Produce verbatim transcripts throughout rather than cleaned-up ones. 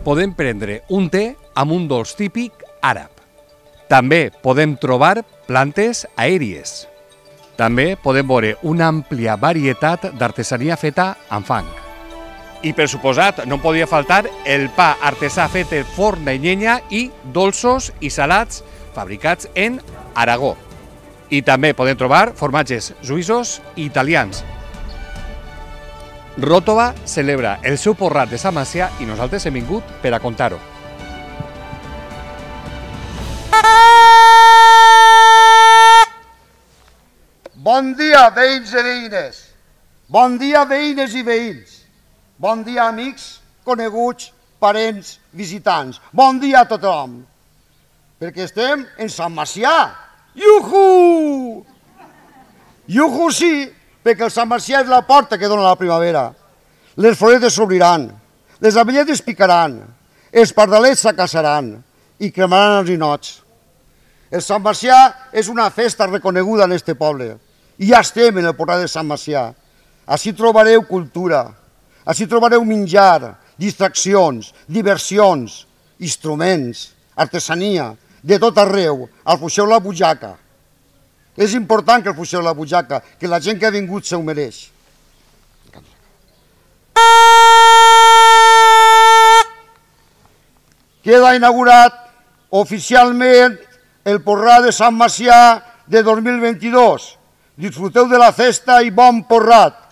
podem prendre un te amb un dolç típic àrab. També podem trobar plantes aèries. També podem veure una àmplia varietat d'artesania feta amb fang. I, per suposat, no podia faltar el pa artesà fet de forn de llenya i dolços i salats fabricats en Aragó. I també podem trobar formatges suïssos i italians. Ròtova celebra el seu porrat de Sant Macià i nosaltres hem vingut per a contar-ho. Bon dia, veïns i veïnes. Bon dia, veïnes i veïns. Bon dia, amics, coneguts, parents, visitants. Bon dia a tothom. Perquè estem en Sant Macià. Iuhu! Iuhu sí, perquè el Sant Macià és la porta que dona la primavera. Les floretes s'obriran, les avelletes picaran, els pardalets s'acasaran i cremaran els ninots. El Sant Macià és una festa reconeguda en este poble. I ja estem en el portal de Sant Macià. Així trobareu cultura, així trobareu menjar, distraccions, diversions, instruments, artesania, de tot arreu. Alfuixeu la butxaca. És important que alfuixeu la butxaca, que la gent que ha vingut se ho mereix. Queda inaugurat oficialment el porrat de Sant Macià de dos mil vint-i-dos. Disfruteu de la festa i bon porrat.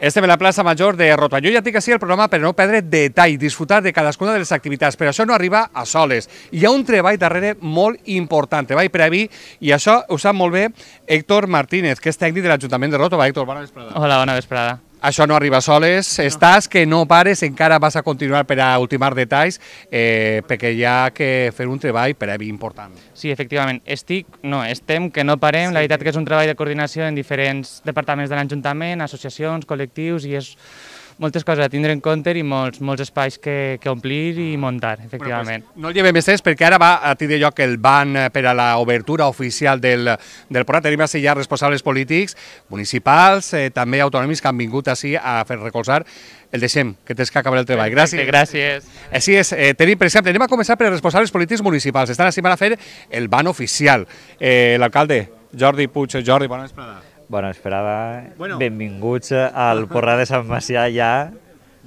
Estem a la plaça Major de Ròtova. Jo ja tinc així el programa per no perdre detall, disfrutar de cadascuna de les activitats, però això no arriba a soles. Hi ha un treball darrere molt important, treball previ, i això ho sap molt bé Héctor Martínez, que és tècnic de l'Ajuntament de Ròtova. Héctor, bona vesprada. Hola, bona vesprada. Això no arriba soles, estàs que no pares, encara vas a continuar per a ultimar detalls, eh, perquè hi ha que fer un treball previ important. Sí, efectivament. Estic, no, estem que no parem. Sí. La veritat que és un treball de coordinació en diferents departaments de l'Ajuntament, associacions, col·lectius, i és moltes coses a tindre en compte i molts, molts espais que, que omplir i muntar, efectivament. Bueno, pues, no el llevem més temps perquè ara va a tindre lloc el ban per a l'obertura oficial del, del porrat. Tenim així ja responsables polítics, municipals, eh, també autonòmics que han vingut així a fer recolzar. El deixem, que tens que acabar el treball. Gràcies. Gràcies. Així és, eh, tenim, per exemple, anem a començar per els responsables polítics municipals. Estan així per a fer el ban oficial. Eh, L'alcalde, Jordi Puig. Jordi, bona vesprada. Bona vesprada, bueno. Benvinguts al porrat de Sant Macià. Ja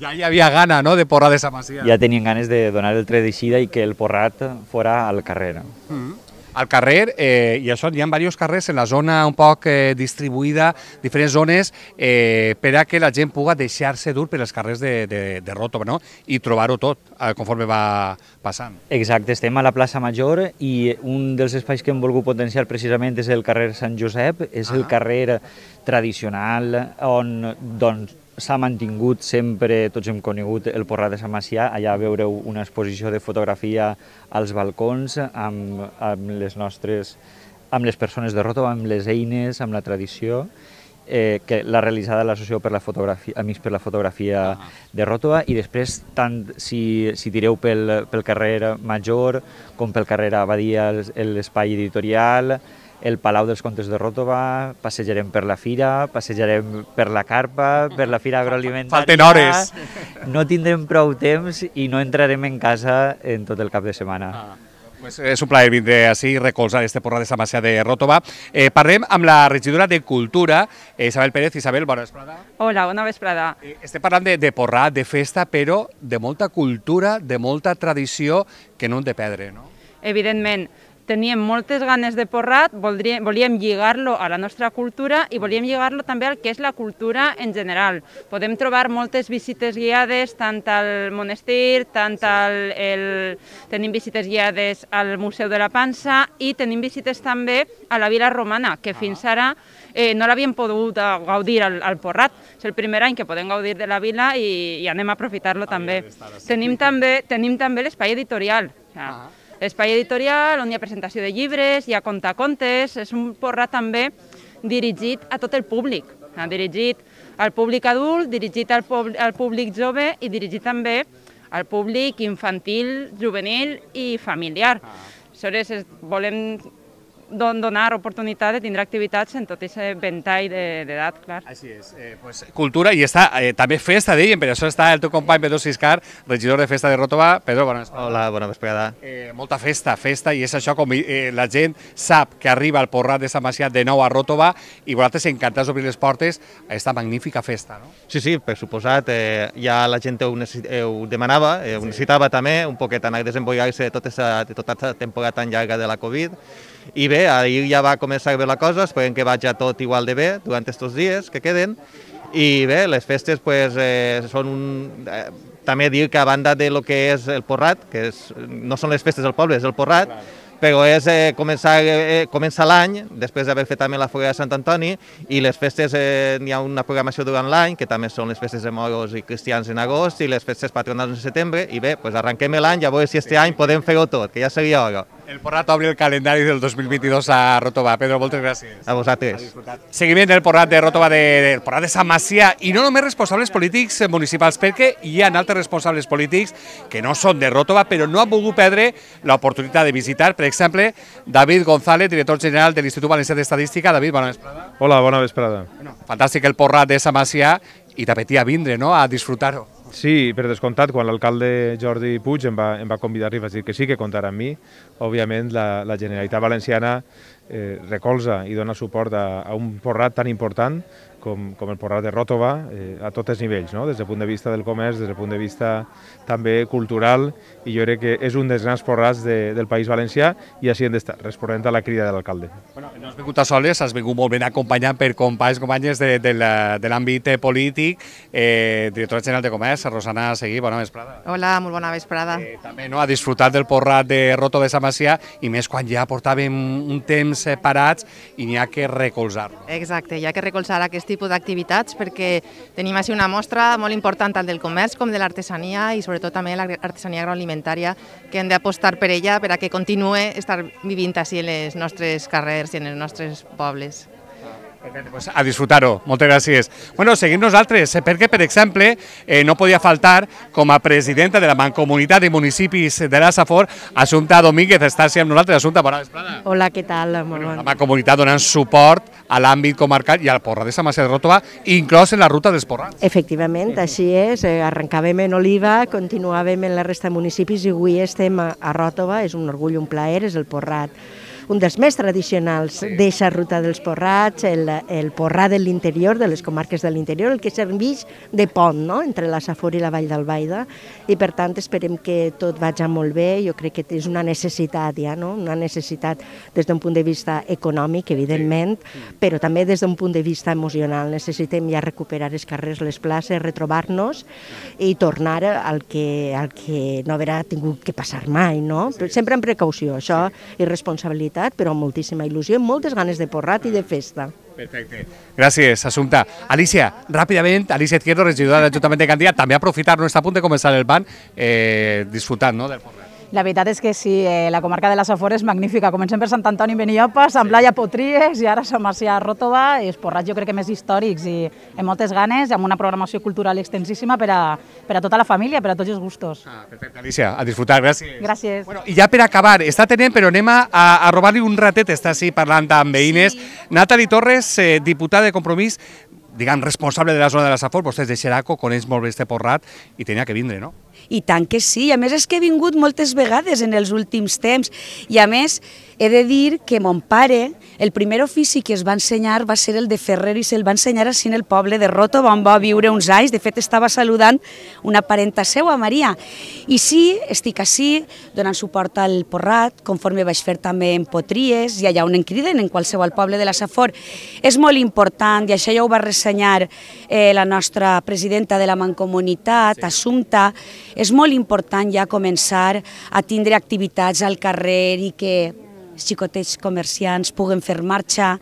ja hi havia gana, no?, de porrat de Sant Macià. Ja tenien ganes de donar el tret d'eixida i que el porrat fora al carrer. Mm-hmm. Al carrer, eh, i això, hi ha diversos carrers en la zona un poc eh, distribuïda, diferents zones, eh, per a que la gent pugui deixar-se dur per els carrers de, de, de Ròtova, no?, i trobar-ho tot eh, conforme va passant. Exacte, estem a la plaça Major i un dels espais que hem volgut potenciar precisament és el carrer Sant Josep, és ah. el carrer tradicional on, doncs, s'ha mantingut sempre, tots hem conegut el porrat de Sant Macià. Allà veureu una exposició de fotografia als balcons amb, amb les nostres, amb les persones de Ròtova, amb les eines, amb la tradició, eh, que l'ha realitzada l'Associació per la Fotografia, Amics per la Fotografia ah. de Ròtova, i després, tant si, si tireu pel, pel carrer Major com pel carrer Abadia, l'espai editorial, el Palau dels Comtes de Ròtova, passejarem per la fira, passejarem per la carpa, per la fira agroalimentària... Falten hores! No tindrem prou temps i no entrarem en casa en tot el cap de setmana. Ah. Pues és un plaer vindre així i recolzar este porrat de Sant Macià de Ròtova. Eh, parlem amb la regidora de Cultura, eh, Isabel Pérez. Isabel, bona vesprada. Hola, bona vesprada. Eh, estem parlant de, de porrat, de festa, però de molta cultura, de molta tradició que no hem de perdre, no? Evidentment. teníem moltes ganes de porrat, voldríem, volíem lligar-lo a la nostra cultura i volíem lligar-lo també al que és la cultura en general. Podem trobar moltes visites guiades, tant al monestir, tant al... El... tenim visites guiades al Museu de la Pansa i tenim visites també a la Vila Romana, que fins ara eh, no l'havíem pogut gaudir al, al Porrat. És el primer any que podem gaudir de la vila i, i anem a aprofitar-lo també. Tenim també, tenim també l'espai editorial. L'espai editorial on hi ha presentació de llibres, hi ha contacontes, és un Porrat també dirigit a tot el públic, dirigit al públic adult, dirigit al, al públic jove i dirigit també al públic infantil, juvenil i familiar. Aleshores, volem donar oportunitat de tindre activitats en tot aquest ventall d'edat, clar. Així és, eh, pues, cultura i està eh, també festa, dèiem, per això està el teu company Pedro Siscar, regidor de Festa de Ròtova. Pedro, bona vesprada. Hola, bona vesprada. Eh, molta festa, festa, i és això com eh, la gent sap que arriba el Porrat de Sant Macià de nou a Ròtova i vosaltres encantats d'obrir les portes a aquesta magnífica festa, no? Sí, sí, per suposat, eh, ja la gent ho, ho demanava, eh, ho sí. necessitava també, un poquet anar desenvolupant-se de tota aquesta temporada tan llarga de la Covid. I bé, ahir ja va començar bé la cosa, esperem que vagi tot igual de bé durant aquests dies que queden. I bé, les festes pues, eh, són un... Eh, també dir que a banda de lo que és el Porrat, que és, no són les festes del poble, és el Porrat, però és eh, començar, eh, començar l'any, després d'haver fet també la Foguera de Sant Antoni, i les festes, eh, hi ha una programació durant l'any, que també són les festes de moros i cristians en agost, i les festes patronals en setembre, i bé, pues arrenquem l'any, ja veure si este any podem fer-ho tot, que ja seria hora. El Porrat obre el calendari del dos mil vint-i-dos a Ròtova. Pedro, moltes gràcies. A vosaltres. Seguiment del Porrat de Ròtova, de, del Porrat de Sant Macià, i no només responsables polítics municipals, perquè hi ha altres responsables polítics que no són de Ròtova, però no han volgut perdre l'oportunitat de visitar, per exemple, David González, director general de l'Institut Valencià d'Estadística. David, bona vesprada. Hola, bona vesprada. Bueno, fantàstic el Porrat de Sant Macià i t'apetia vindre, no?, a disfrutar-ho. Sí, per descomptat, quan l'alcalde Jordi Puig em va, em va convidar i va dir que sí que comptarà amb mi, òbviament la, la Generalitat Valenciana eh, recolza i dona suport a, a un Porrat tan important com, com el Porrat de Ròtova eh, a tots els nivells, no? Des del punt de vista del comerç, des del punt de vista també cultural, i jo crec que és un dels grans porrats de, del País Valencià i així hem d'estar, responent a la crida de l'alcalde. Bueno, no has vingut a soles, has vingut molt ben acompanyat per companys, companyes de, de l'àmbit polític, eh, directora general de Comerç, Rosana Seguí, bona vesprada. Hola, molt bona vesprada. Eh, també no, a disfrutar del Porrat de Ròtova de Sant Macià, i més quan ja portàvem un temps parats i n'hi ha que recolzar-lo. Exacte, hi ha que recolzar aquest tipus d'activitats perquè tenim així una mostra molt important tant del comerç com de l'artesania i sobretot també l'artesania agroalimentària, que hem d'apostar per ella per a que continue estar vivint així en els nostres carrers i en els nostres pobles. Perfecte, pues a disfrutar-ho. Moltes gràcies. Bueno, seguim nosaltres, perquè, per exemple, eh, no podia faltar, com a presidenta de la Mancomunitat de Municipis de la Safor, Assumpta Domínguez. Està amb nosaltres. Assumpta, bona vesprada. Hola, què tal? Bueno, la Mancomunitat donant suport a l'àmbit comarcal i al Porrat de Sant Macià de Ròtova, inclòs en la ruta dels Porrats. Efectivament, així és. Arrencàvem en Oliva, continuàvem en la resta de municipis i avui estem a Ròtova. És un orgull, un plaer, és el Porrat, un dels més tradicionals d'eixa ruta dels Porrats, el, el Porrat de l'interior, de les comarques de l'interior, el que serveix de pont, no?, entre la Safor i la Vall d'Albaida, i per tant esperem que tot vagi molt bé. Jo crec que és una necessitat ja, no?, una necessitat des d'un punt de vista econòmic, evidentment, però també des d'un punt de vista emocional. Necessitem ja recuperar els carrers, les places, retrobar-nos i tornar al que, al que no haurà tingut que passar mai, no? Sempre amb precaució, això, i responsabilitat, però amb moltíssima il·lusió, amb moltes ganes de porrat i de festa. Perfecte. Gràcies, Assumpta. Alicia, ràpidament, Alicia Izquierdo, regidora de l'Ajuntament de Gandia, també aprofitar, no està a punt de començar el ban, eh, disfrutant, no?, del porrat. La veritat és que sí, eh, la comarca de la Safor és magnífica. Comencem per Sant Antoni, Benillopa, Sant Blai, Potries i ara Sant Macià, Ròtova, i els porrats jo crec que més històrics i amb moltes ganes, amb una programació cultural extensíssima per a, per a tota la família, per a tots els gustos. Ah, perfecte, Alicia, a disfrutar, gràcies. Gràcies. Bueno, i ja per acabar, està tenent, però anem a, a robar-li un ratet, està així parlant amb veïnes. Sí. Natali Torres, eh, diputada de Compromís, diguem, responsable de la zona de la Safor, vostè és de Xeraco, coneix molt bé este porrat i tenia que vindre, no? I tant que sí, a més és que he vingut moltes vegades en els últims temps i a més he de dir que mon pare, el primer ofici que es va ensenyar va ser el de ferrer i se'l va ensenyar així en el poble de Ròtova, on va viure uns anys, de fet estava saludant una parenta seua, Maria. I sí, estic així donant suport al Porrat, conforme vaig fer també en Potries i allà on en criden, en qualsevol poble de la Safor. És molt important, i això ja ho va ressenyar eh, la nostra presidenta de la Mancomunitat, sí. Assumpta, és molt important ja començar a tindre activitats al carrer i que els xicotets comerciants puguen fer marxa.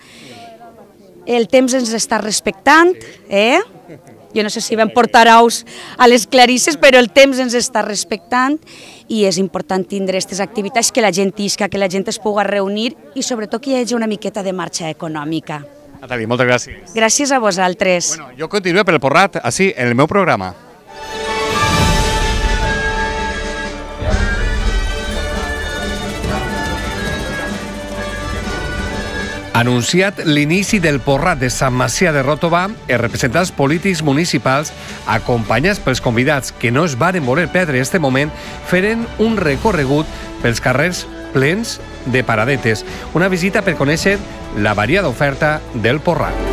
El temps ens està respectant, eh? Jo no sé si vam portar ous a les clarisses, però el temps ens està respectant i és important tindre aquestes activitats, que la gent isca, que la gent es pugui reunir i sobretot que hi hagi una miqueta de marxa econòmica. Natàlia, moltes gràcies. Gràcies a vosaltres. Bueno, jo continuo per el Porrat, així, en el meu programa. Anunciat l'inici del Porrat de Sant Macià de Ròtova, els representants polítics municipals, acompanyats pels convidats que no es varen voler perdre este moment, feren un recorregut pels carrers plens de paradetes, una visita per conèixer la variada oferta del Porrat.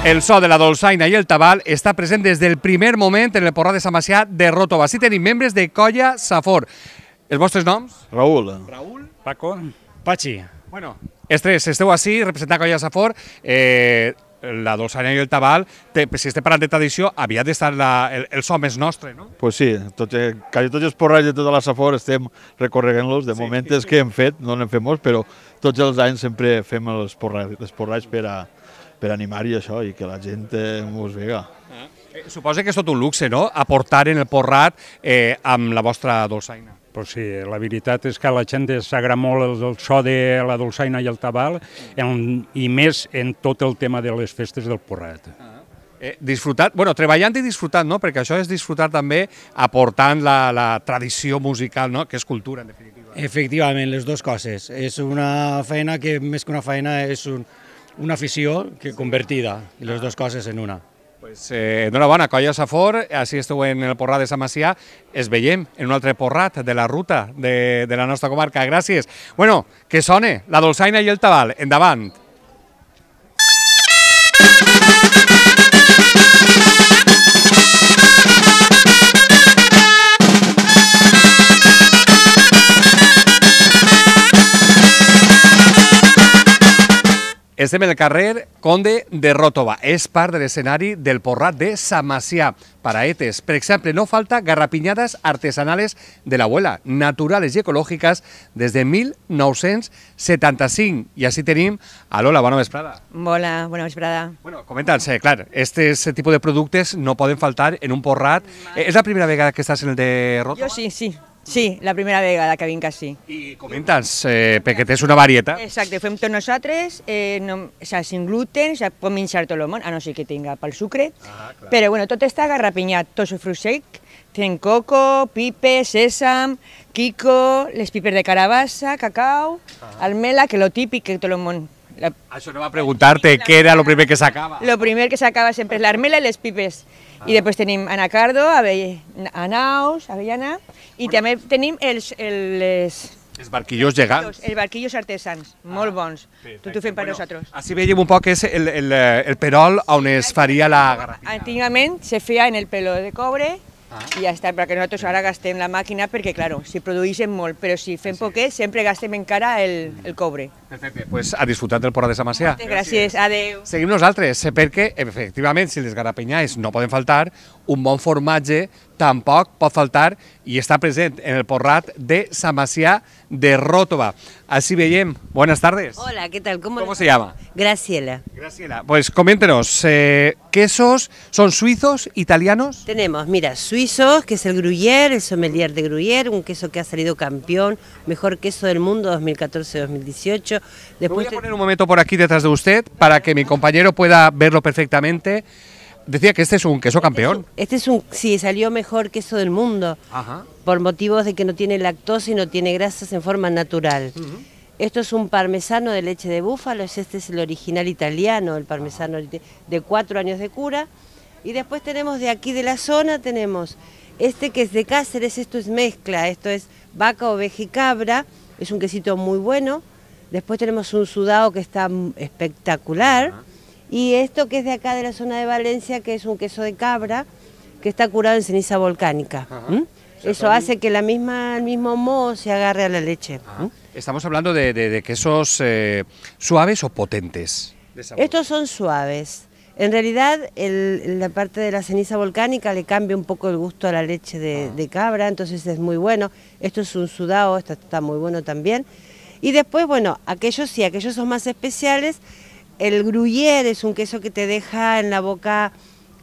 El so de la dolçaina i el tabal està present des del primer moment en el Porrat de Sant Macià de Ròtova. Així tenim membres de Colla Safor. Els vostres noms? Raül. Raül. Paco. Pachi. Bueno, els tres esteu així, representant Colla Safor. Eh, la dolçaina i el tabal, te, si estem parlant de tradició, havia d'estar el, el so més nostre, no? Pues sí, tot, quasi tots els porrats de tota la Safor estem recorregant-los. De sí. moment és que hem fet, no n'hem fet molts, però tots els anys sempre fem els porrats, els porrats per a per animar-hi això i que la gent eh, mos vega. Ah. Eh, suposa que és tot un luxe, no?, aportar en el Porrat eh, amb la vostra dolçaina. Pues sí, la veritat és que a la gent s'agrada molt el, el so de la dolçaina i el tabal en, i més en tot el tema de les festes del Porrat. Ah. Eh, disfrutat, bueno, treballant i disfrutant, no?, perquè això és disfrutar també aportant la, la tradició musical, no?, que és cultura, en definitiva. Efectivament, les dues coses. És una feina que, més que una feina, és un una afició que convertida, i les dues coses en una. Pues, eh, enhorabona, Colla Safor, així esteu en el Porrat de Sant Macià, es veiem en un altre Porrat de la ruta de, de la nostra comarca. Gràcies. Bueno, que sone la dolçaina i el tabal. Endavant. Estem en el carrer Conde de Ròtova. És part de l'escenari del Porrat de Sant Macià. Paraetes, per exemple, no falta garrapiñadas artesanales de l'abuela, naturales i ecològiques des de mil nou-cents setanta-cinc. I així tenim a Lola, bona vesprada. Hola, bona vesprada. Bueno, comenta'ns, eh, clar, este tipus de productes no poden faltar en un Porrat. Eh, és la primera vegada que estàs en el de Ròtova? Jo sí, sí. Sí, la primera vegada que vinc així. I comenta'ns, eh, perquè tens una varietat. Exacte, ho fem tots nosaltres, eh, no, o sea, sin gluten, o sea, pot menjar tot el món, a no ser que tinga pel sucre, ah, però bueno, tot està garrapinyat, tot el fruit sec, ten coco, pipes, sèsam, quico, les pipes de carabassa, cacau, ah. almela, que lo típic que tot el món... La... Això no va preguntar-te què era el primer que s'acaba. Lo primer que s'acaba sempre és l'armela i les pipes. Ah. I després tenim anacardo, avell... anaus, avellana, i bueno. també tenim els... els... Els barquillos gegants. Els barquillos artesans, molt bons. Ah, Tot ho fem per bueno, nosaltres. Així veiem un poc que és el, el, el perol on es faria la garrafina. Antigament se feia en el peló de cobre I ja està, perquè nosaltres ara gastem la màquina perquè, claro, si produïssin molt, però si fem poquet, sempre gastem encara el, el cobre. Perfecte, pues a disfrutar del Porrat de Sant Macià. Moltes gràcies, adeu. Seguim nosaltres, perquè, efectivament, si les garapenyais no poden faltar, un bon formatge tampoc pot faltar i està present en el Porrat de Sant Macià de Ròtova. Así veiem. Buenas tardes. Hola, ¿qué tal? ¿Cómo, ¿Cómo se llama? Graciela. Graciela. Pues coméntenos, eh, ¿quesos son suizos, italianos? Tenemos, mira, suizos, que es el Gruyère, el sommelier de Gruyère, un queso que ha salido campeón, mejor queso del mundo dos mil catorce dos mil dieciocho. Después voy a poner un momento por aquí detrás de usted para que mi compañero pueda verlo perfectamente. Decía que este es un queso campeón. Este es un, sí, salió mejor queso del mundo, Ajá. por motivos de que no tiene lactosa y no tiene grasas en forma natural. Uh-huh. Esto es un parmesano de leche de búfalo, este es el original italiano, el parmesano de cuatro años de cura. Y después tenemos de aquí de la zona, tenemos este que es de Cáceres, esto es mezcla, esto es vaca, oveja y cabra, es un quesito muy bueno. Después tenemos un sudado que está espectacular. Uh-huh. Y esto que es de acá de la zona de Valencia, que es un queso de cabra, que está curado en ceniza volcánica. ¿Mm? Eso hace que la misma, el mismo moho se agarre a la leche. ¿Mm? Estamos hablando de, de, de quesos eh, suaves o potentes. Estos son suaves. En realidad, el, la parte de la ceniza volcánica le cambia un poco el gusto a la leche de, de cabra, entonces es muy bueno. Esto es un sudado, esto está muy bueno también. Y después, bueno, aquellos sí, aquellos son más especiales. El Gruyère es un queso que te deja en la boca,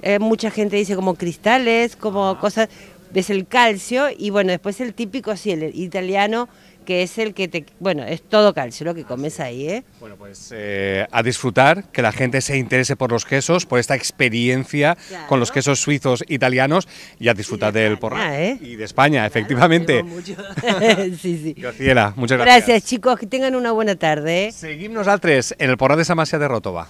eh, mucha gente dice como cristales, como ah. cosas, ves el calcio, y bueno, después el típico, sí, el italiano, que es el que te, bueno, es todo calcio lo que comes ahí, ¿eh? Bueno, pues eh, a disfrutar, que la gente se interese por los quesos, por esta experiencia claro. con los quesos suizos italianos, y a disfrutar de del Porrat. ¿eh? Y de España, claro, efectivamente. sí, sí. Graciela, muchas gracias. Gracias, chicos, que tengan una buena tarde. ¿eh? Seguim nosaltres en el Porrat de Sant Macià de Ròtova.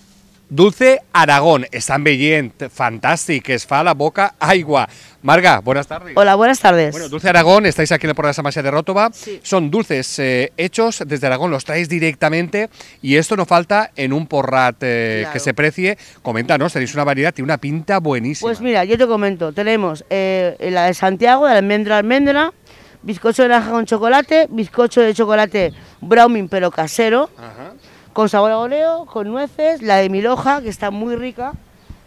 Dulce Aragón, estan veient, fantàstic, que es fa a la boca aigua. Marga, buenas tardes. Hola, buenas tardes. Bueno, Dulce Aragón, estáis aquí en el Porrat de Sant Macià de Ròtova. Sí. Son dulces eh, hechos desde Aragón, los traéis directamente y esto no falta en un porrat eh, claro. que se precie. Coméntanos, tenéis una variedad y una pinta buenísima. Pues mira, yo te comento, tenemos eh, la de Santiago, de almendra almendra, bizcocho de naranja con chocolate, bizcocho de chocolate browning pero casero. Ajá. Con sabor a oreo, con nueces, la de mil hoja, que está muy rica.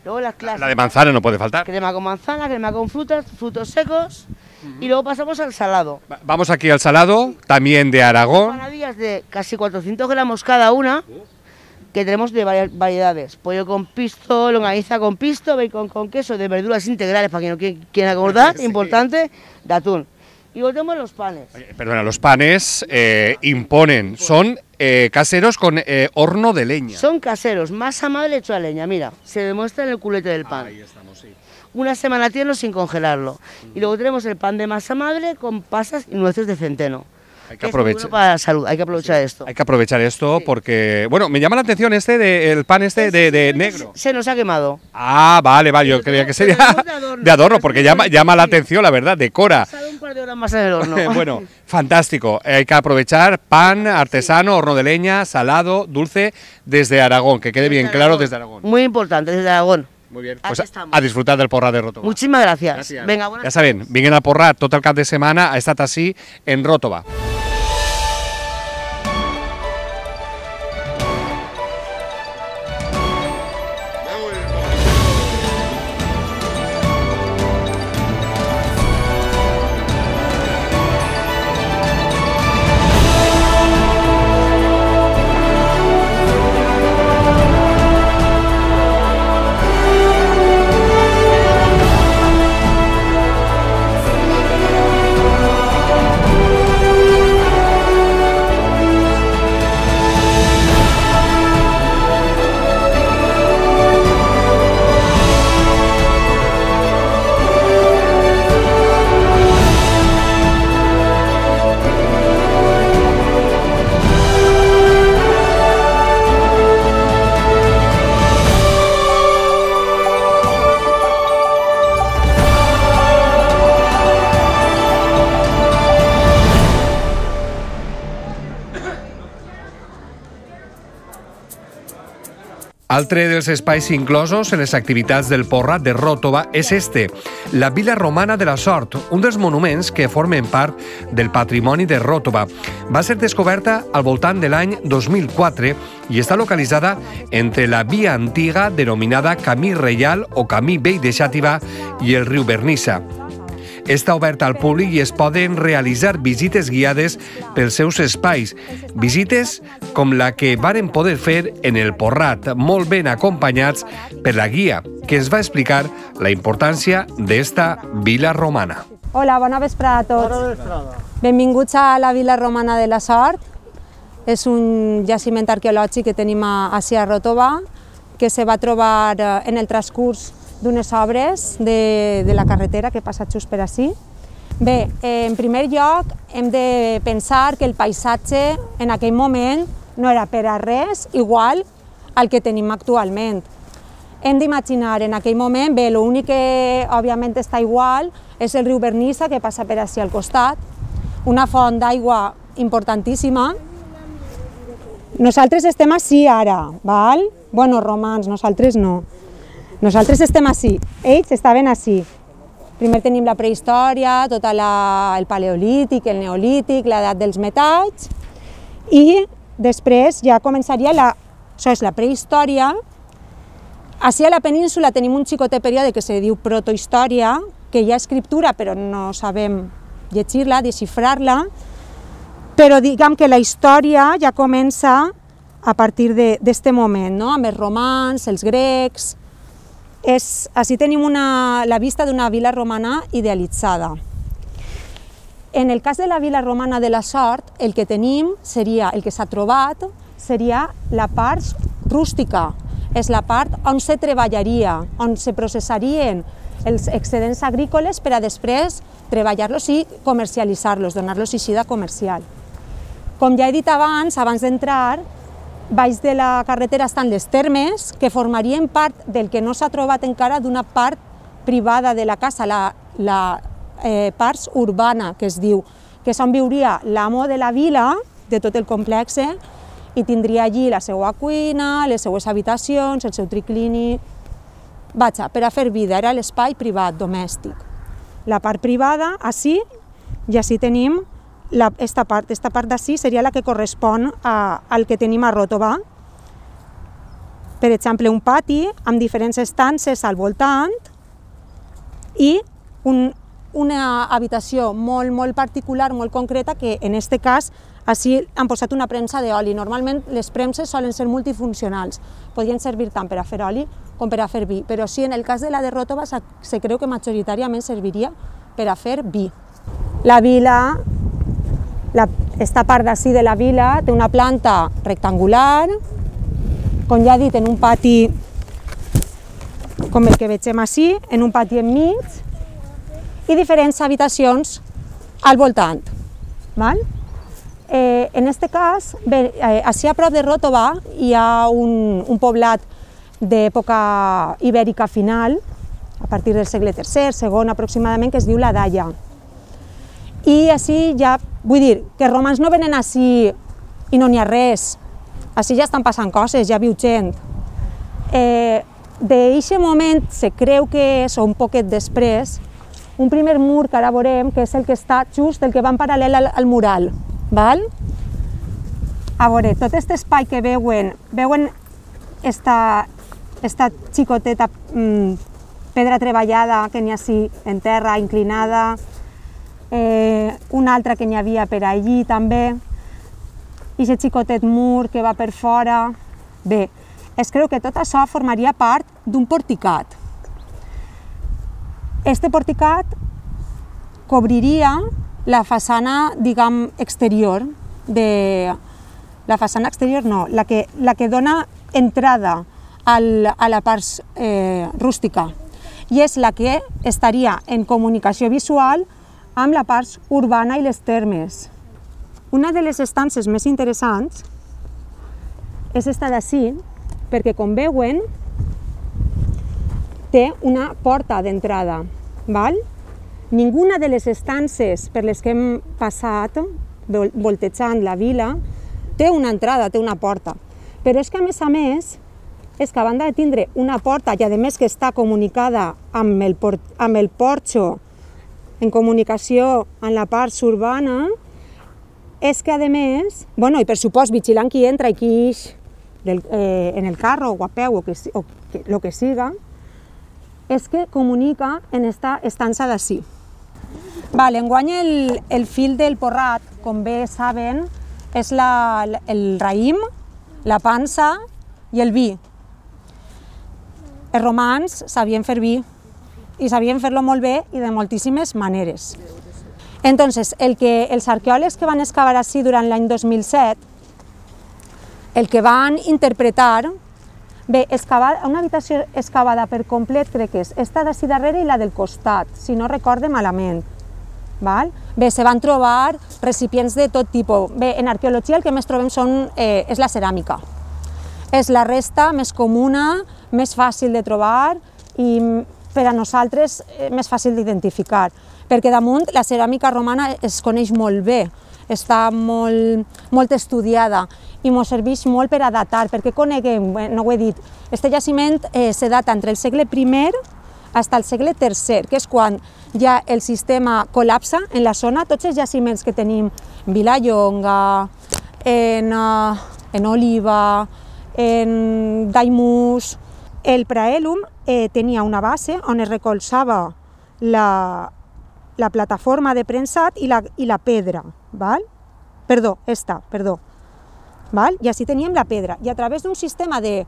Luego las clásicas. La de manzana no puede faltar. Crema con manzana, crema con frutas, frutos secos. Uh-huh. Y luego pasamos al salado. Vamos aquí al salado, también de Aragón. Empanadillas de casi cuatrocientos gramos cada una, que tenemos de varias variedades. Pollo con pisto, longaniza con pisto, bacon con queso, de verduras integrales, para quien no quiera acordar, sí. importante, de atún. Y luego tenemos los panes. Oye, perdona, los panes eh, imponen, son eh, caseros con eh, horno de leña. Son caseros, masa madre hecho a leña, mira, se demuestra en el culete del pan. Ahí estamos, sí. Una semana tierno sin congelarlo. Y luego tenemos el pan de masa madre con pasas y nueces de centeno. Hay que aprovechar. Para la salud, hay que aprovechar sí. esto. Hay que aprovechar esto sí. porque, bueno, me llama la atención este de, el pan este de, de negro. Se nos ha quemado. Ah, vale, vale, yo creía que sería de adorno, de adorno porque llama, llama la atención, la verdad, decora. Un par de horas más en el horno. Bueno, fantástico. Hay que aprovechar pan artesano, horno de leña, salado, dulce, desde Aragón, que quede bien claro desde Aragón. Muy importante, desde Aragón. Muy bien, pues a, a disfrutar del Porrat de Ròtova. Muchísimas gracias. gracias. Venga, buenas ja saben, vinguin al Porrat tot el cap de setmana, ha estat així en Ròtova. Altre dels espais inclosos en les activitats del Porrat de Ròtova és este, la Vila Romana de la Sort, un dels monuments que formen part del patrimoni de Ròtova. Va ser descoberta al voltant de l'any dos mil quatre i està localitzada entre la via antiga denominada Camí Reial o Camí Vell de Xàtiva i el riu Vernissa. Està oberta al públic i es poden realitzar visites guiades pels seus espais. Visites com la que varen poder fer en el Porrat, molt ben acompanyats per la guia, que es va explicar la importància d'esta vila romana. Hola, bona vesprada a tots. Bona vesprada. Benvinguts a la Vila Romana de la Sort. És un jaciment arqueològic que tenim ací a Ròtova, que se va trobar en el transcurs d'unes obres de, de la carretera que passa just per ací. Bé, eh, en primer lloc hem de pensar que el paisatge en aquell moment no era per a res igual al que tenim actualment. Hem d'imaginar en aquell moment, bé, l'únic que òbviament està igual és el riu Vernissa que passa per ací al costat, una font d'aigua importantíssima. Nosaltres estem ací ara, val? Bueno, romans, nosaltres no. Nosaltres estem ací, ells estaven ací. Primer tenim la prehistòria, tot el paleolític, el neolític, l'edat dels metalls, i després ja començaria la, això és la prehistòria. Ací a la península tenim un xicotet període que se diu protohistòria, que hi ha escriptura però no sabem llegir-la, desxifrar-la, però diguem que la història ja comença a partir d'aquest moment, no? Amb els romans, els grecs. És, així tenim una, la vista d'una vila romana idealitzada. En el cas de la vila romana de la Sort, el que tenim seria, el que s'ha trobat, seria la part rústica. És la part on se treballaria, on se processarien els excedents agrícoles per a després treballar-los i comercialitzar-los, donar-los eixida comercial. Com ja he dit abans, abans d'entrar, baix de la carretera estan les termes, que formarien part del que no s'ha trobat encara d'una part privada de la casa, la, la eh, part urbana, que es diu, que és on viuria l'amo de la vila, de tot el complex, i tindria allí la seva cuina, les seues habitacions, el seu triclini. Vaja, per a fer vida, era l'espai privat, domèstic. La part privada, ací, i ací tenim La, esta part, esta part d'ací seria la que correspon a, al que tenim a Ròtova. Per exemple, un pati amb diferents estances al voltant i un, una habitació molt, molt particular, molt concreta, que en aquest cas ací han posat una premsa d'oli. Normalment les premses solen ser multifuncionals, podrien servir tant per a fer oli com per a fer vi, però sí, en el cas de la de Ròtova se creu que majoritàriament serviria per a fer vi. La vila La, esta part d'ací de la vila té una planta rectangular, com ja he dit, en un pati com el que vegem ací, en un pati enmig, i diferents habitacions al voltant. Val? Eh, en aquest cas, bé, eh, ací a prop de Ròtova hi ha un, un poblat d'època ibèrica final, a partir del segle tercer, segon aproximadament, que es diu la Dalla. I així ja, vull dir, que els romans no venen així i no n'hi ha res. Així ja estan passant coses, ja viu gent. Eh, D'aquest moment se creu que és, o un poquet després, un primer mur que ara veurem, que és el que està just, el que va en paral·lel al, al mural. Val? A veure, tot aquest espai que veuen, veuen esta, esta xicoteta mm, pedra treballada que n'hi ha així en terra, inclinada, Eh, una altra que n'hi havia per allí també, i aquest xicotet mur que va per fora. Bé, es creu que tot això formaria part d'un porticat. Este porticat cobriria la façana, diguem, exterior, de... la façana exterior no, la que, la que dona entrada al, a la part eh, rústica, i és la que estaria en comunicació visual amb la part urbana i les termes. Una de les estances més interessants és esta d'ací, perquè com veuen té una porta d'entrada. Ninguna de les estances per les que hem passat, voltejant la vila, té una entrada, té una porta. Però és que a més a més és que a banda de tindre una porta i a més que està comunicada amb el, por amb el porxo en comunicació en la part urbana, és que a més, bueno, i per supost vigilant qui entra i qui ix del, eh, en el carro o a peu o, que, o que, lo que siga, és que comunica en esta estança d'ací. Vale, enguany el, el fil del porrat, com bé saben, és la, el raïm, la pansa i el vi. Els romans sabien fer vi i sabien fer-lo molt bé i de moltíssimes maneres. Entonces, el que, els arqueòlegs que van excavar així durant l'any dos mil set, el que van interpretar, bé, excavar, una habitació excavada per complet crec que és esta d'ací darrere i la del costat, si no recorde malament. Val? Bé, se van trobar recipients de tot tipus. Bé, en arqueologia el que més trobem són, eh, és la ceràmica. És la resta més comuna, més fàcil de trobar i per a nosaltres eh, més fàcil d'identificar, perquè damunt la ceràmica romana es coneix molt bé, està molt, molt estudiada i ens serveix molt per a datar, perquè coneguem, no ho he dit, este jaciment eh, se data entre el segle primer fins al segle tercer, que és quan ja el sistema col·lapsa en la zona. Tots els jaciments que tenim en Vilallonga, en, uh, en Oliva, en Daimús, el praèlum eh, tenia una base on es recolzava la, la plataforma de premsat i la, i la pedra, val? Perdó, esta, perdó. Val? I així teníem la pedra. I a través d'un sistema de,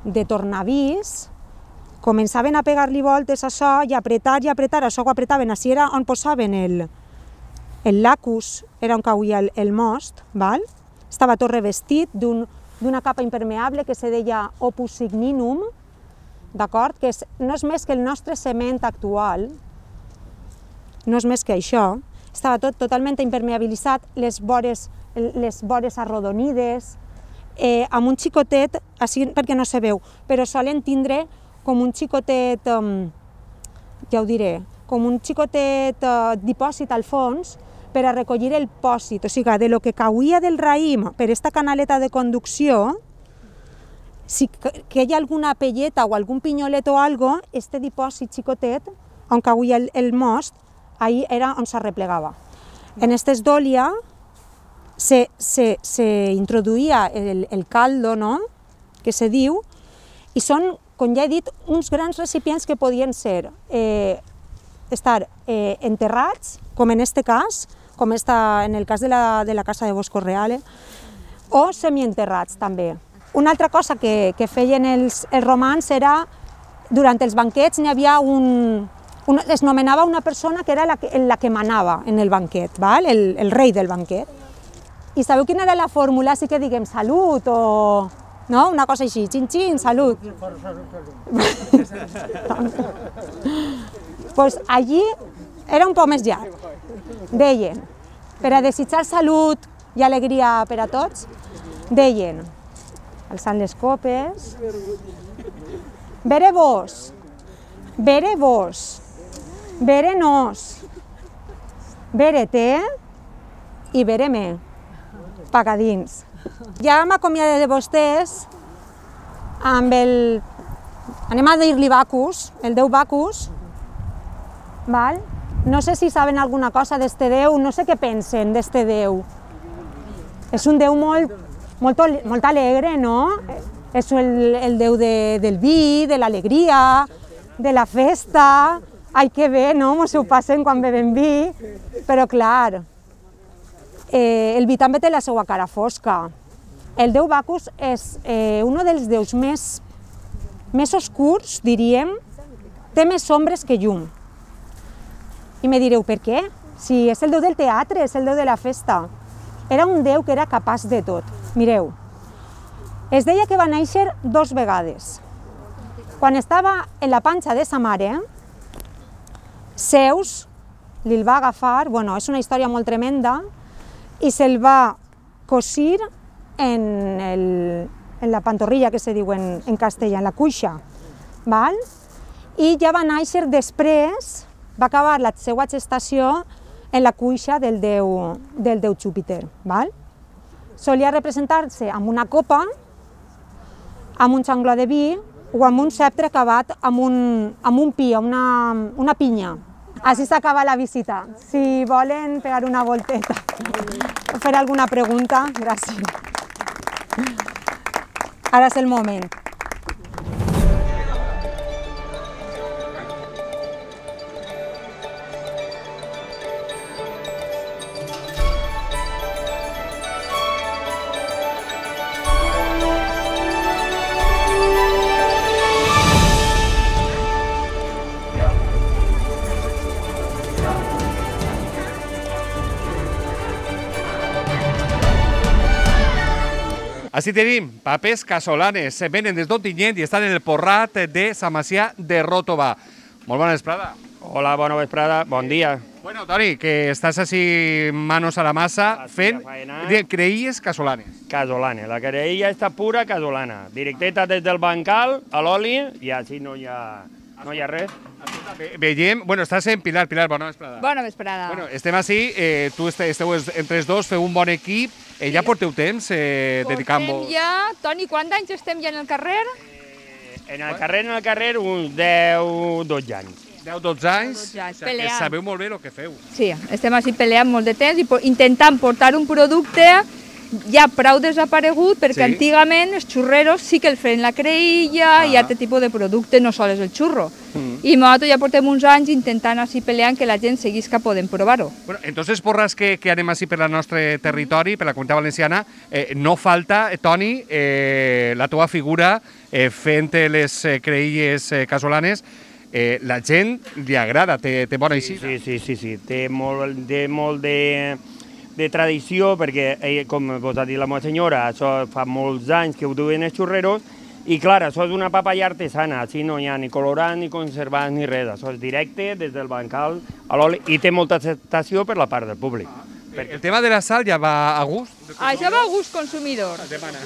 de tornavís començaven a pegar-li voltes a això i apretar i apretar, això ho apretaven, així era on posaven el, el lacus, era on cauia el, el most, val? Estava tot revestit d'una capa impermeable que se deia opus signinum, d'acord? Que és, no és més que el nostre cement actual, no és més que això, estava tot totalment impermeabilitzat, les vores, les vores arrodonides, eh, amb un xicotet, així perquè no se veu, però solen tindre com un xicotet, um, ja ho diré, com un xicotet uh, dipòsit al fons per a recollir el pòsit, o sigui, de lo que cauia del raïm per esta canaleta de conducció, si que hi ha alguna pelleta o algun pinyolet o algo, este dipòsit xicotet, on cauia el, el most, ahí era on s'arreplegava. En estes d'òlia se, se, se introduïa el, el caldo, no?, que se diu, i són, com ja he dit, uns grans recipients que podien ser eh, estar eh, enterrats, com en este cas, com està en el cas de la, de la casa de Bosco Reale, o semienterrats també. Una altra cosa que, que feien els, els romans era, durant els banquets n'hi havia un, un... es nomenava una persona que era la que, la que manava en el banquet, val? El, el rei del banquet. I sabeu quina era la fórmula? Així que diguem salut o... no? Una cosa així, xin-xin, salut. Pues allí era un poc més llarg. Deien, per a desitjar salut i alegria per a tots, deien, alçant les copes, bere vos, bere vos, bere nos, bere te i bere me, pagadins. Ja m'acomiade de vostès amb el... anem a dir-li Bacus, el déu Bacus, val? No sé si saben alguna cosa d'este déu, no sé què pensen d'este déu. És un déu molt, molt, molt alegre, no? És el, el déu de, del vi, de l'alegria, de la festa. Ai, que bé, no? Mos ho passen quan beben vi, però clar, Eh, el vi també té la seva cara fosca. El déu Bacus és eh, un dels déus més, més oscurs, diríem, té més ombres que llum. I me direu, per què? Si és el déu del teatre, és el déu de la festa. Era un déu que era capaç de tot. Mireu, es deia que va néixer dos vegades. Quan estava en la panxa de sa mare, Zeus li'l va agafar, bueno, és una història molt tremenda, i se'l va cosir en, el, en la pantorrilla, que se diu en, en castellà, en la cuixa, val? I ja va néixer després, va acabar la seva gestació en la cuixa del déu, del déu Júpiter, val? Solia representar-se amb una copa amb un xangló de vi o amb un ceptre acabat amb un, amb un pi, una, una pinya. Així s'acaba la visita. Si volen pegar una volteta o fer alguna pregunta, gràcies. Ara és el moment. Així tenim papers casolanes, se venen des d'Ontinyent i estan en el Porrat de Sant Macià de Ròtova. Molt bona vesprada. Hola, bona vesprada, bon dia. Bueno, Toni, que estàs així manos a la massa fent creïlles casolanes. Casolanes, la creïlla està pura casolana, directeta des del bancal a l'oli i així no hi ha, no hi ha res. Veiem, bueno, estàs en Pilar, Pilar, bona vesprada. Bona vesprada. Bueno, estem així, eh, tu esteu entre els dos, feu un bon equip, eh, ja porteu temps eh, dedicant-vos... Portem ja, Toni, quants anys estem ja en el carrer? En el carrer, en el carrer, uns deu, dotze anys. deu, dotze anys, dotze anys, o sigui, que peleant. sabeu molt bé el que feu. Sí, estem així peleant molt de temps i po- intentant portar un producte ja prou desaparegut, perquè Sí. antigament els xurreros sí que el feien la creïlla i Ah. altre tipus de producte, no sols el xurro. Mm. I nosaltres ja portem uns anys intentant així peleant que la gent seguisca podent provar-ho. Bueno, entonces, porras que, que anem així per el nostre territori, per la comunitat valenciana, eh, no falta, eh, Toni, eh, la teva figura eh, fent les eh, creïlles eh, casolanes. Eh, la gent li agrada, té, té bona eixida. Sí, sí, sí, sí, té molt, té molt de, de tradició, perquè, eh, com vos ha dit la meva senyora, això fa molts anys que ho duen els xurreros, i clar, això és una papaya artesana, així no hi ha ni colorant, ni conservants, ni res, això és directe des del bancal a l'oli, i té molta acceptació per la part del públic. El tema de la sal ja va a gust? Això va a gust consumidor,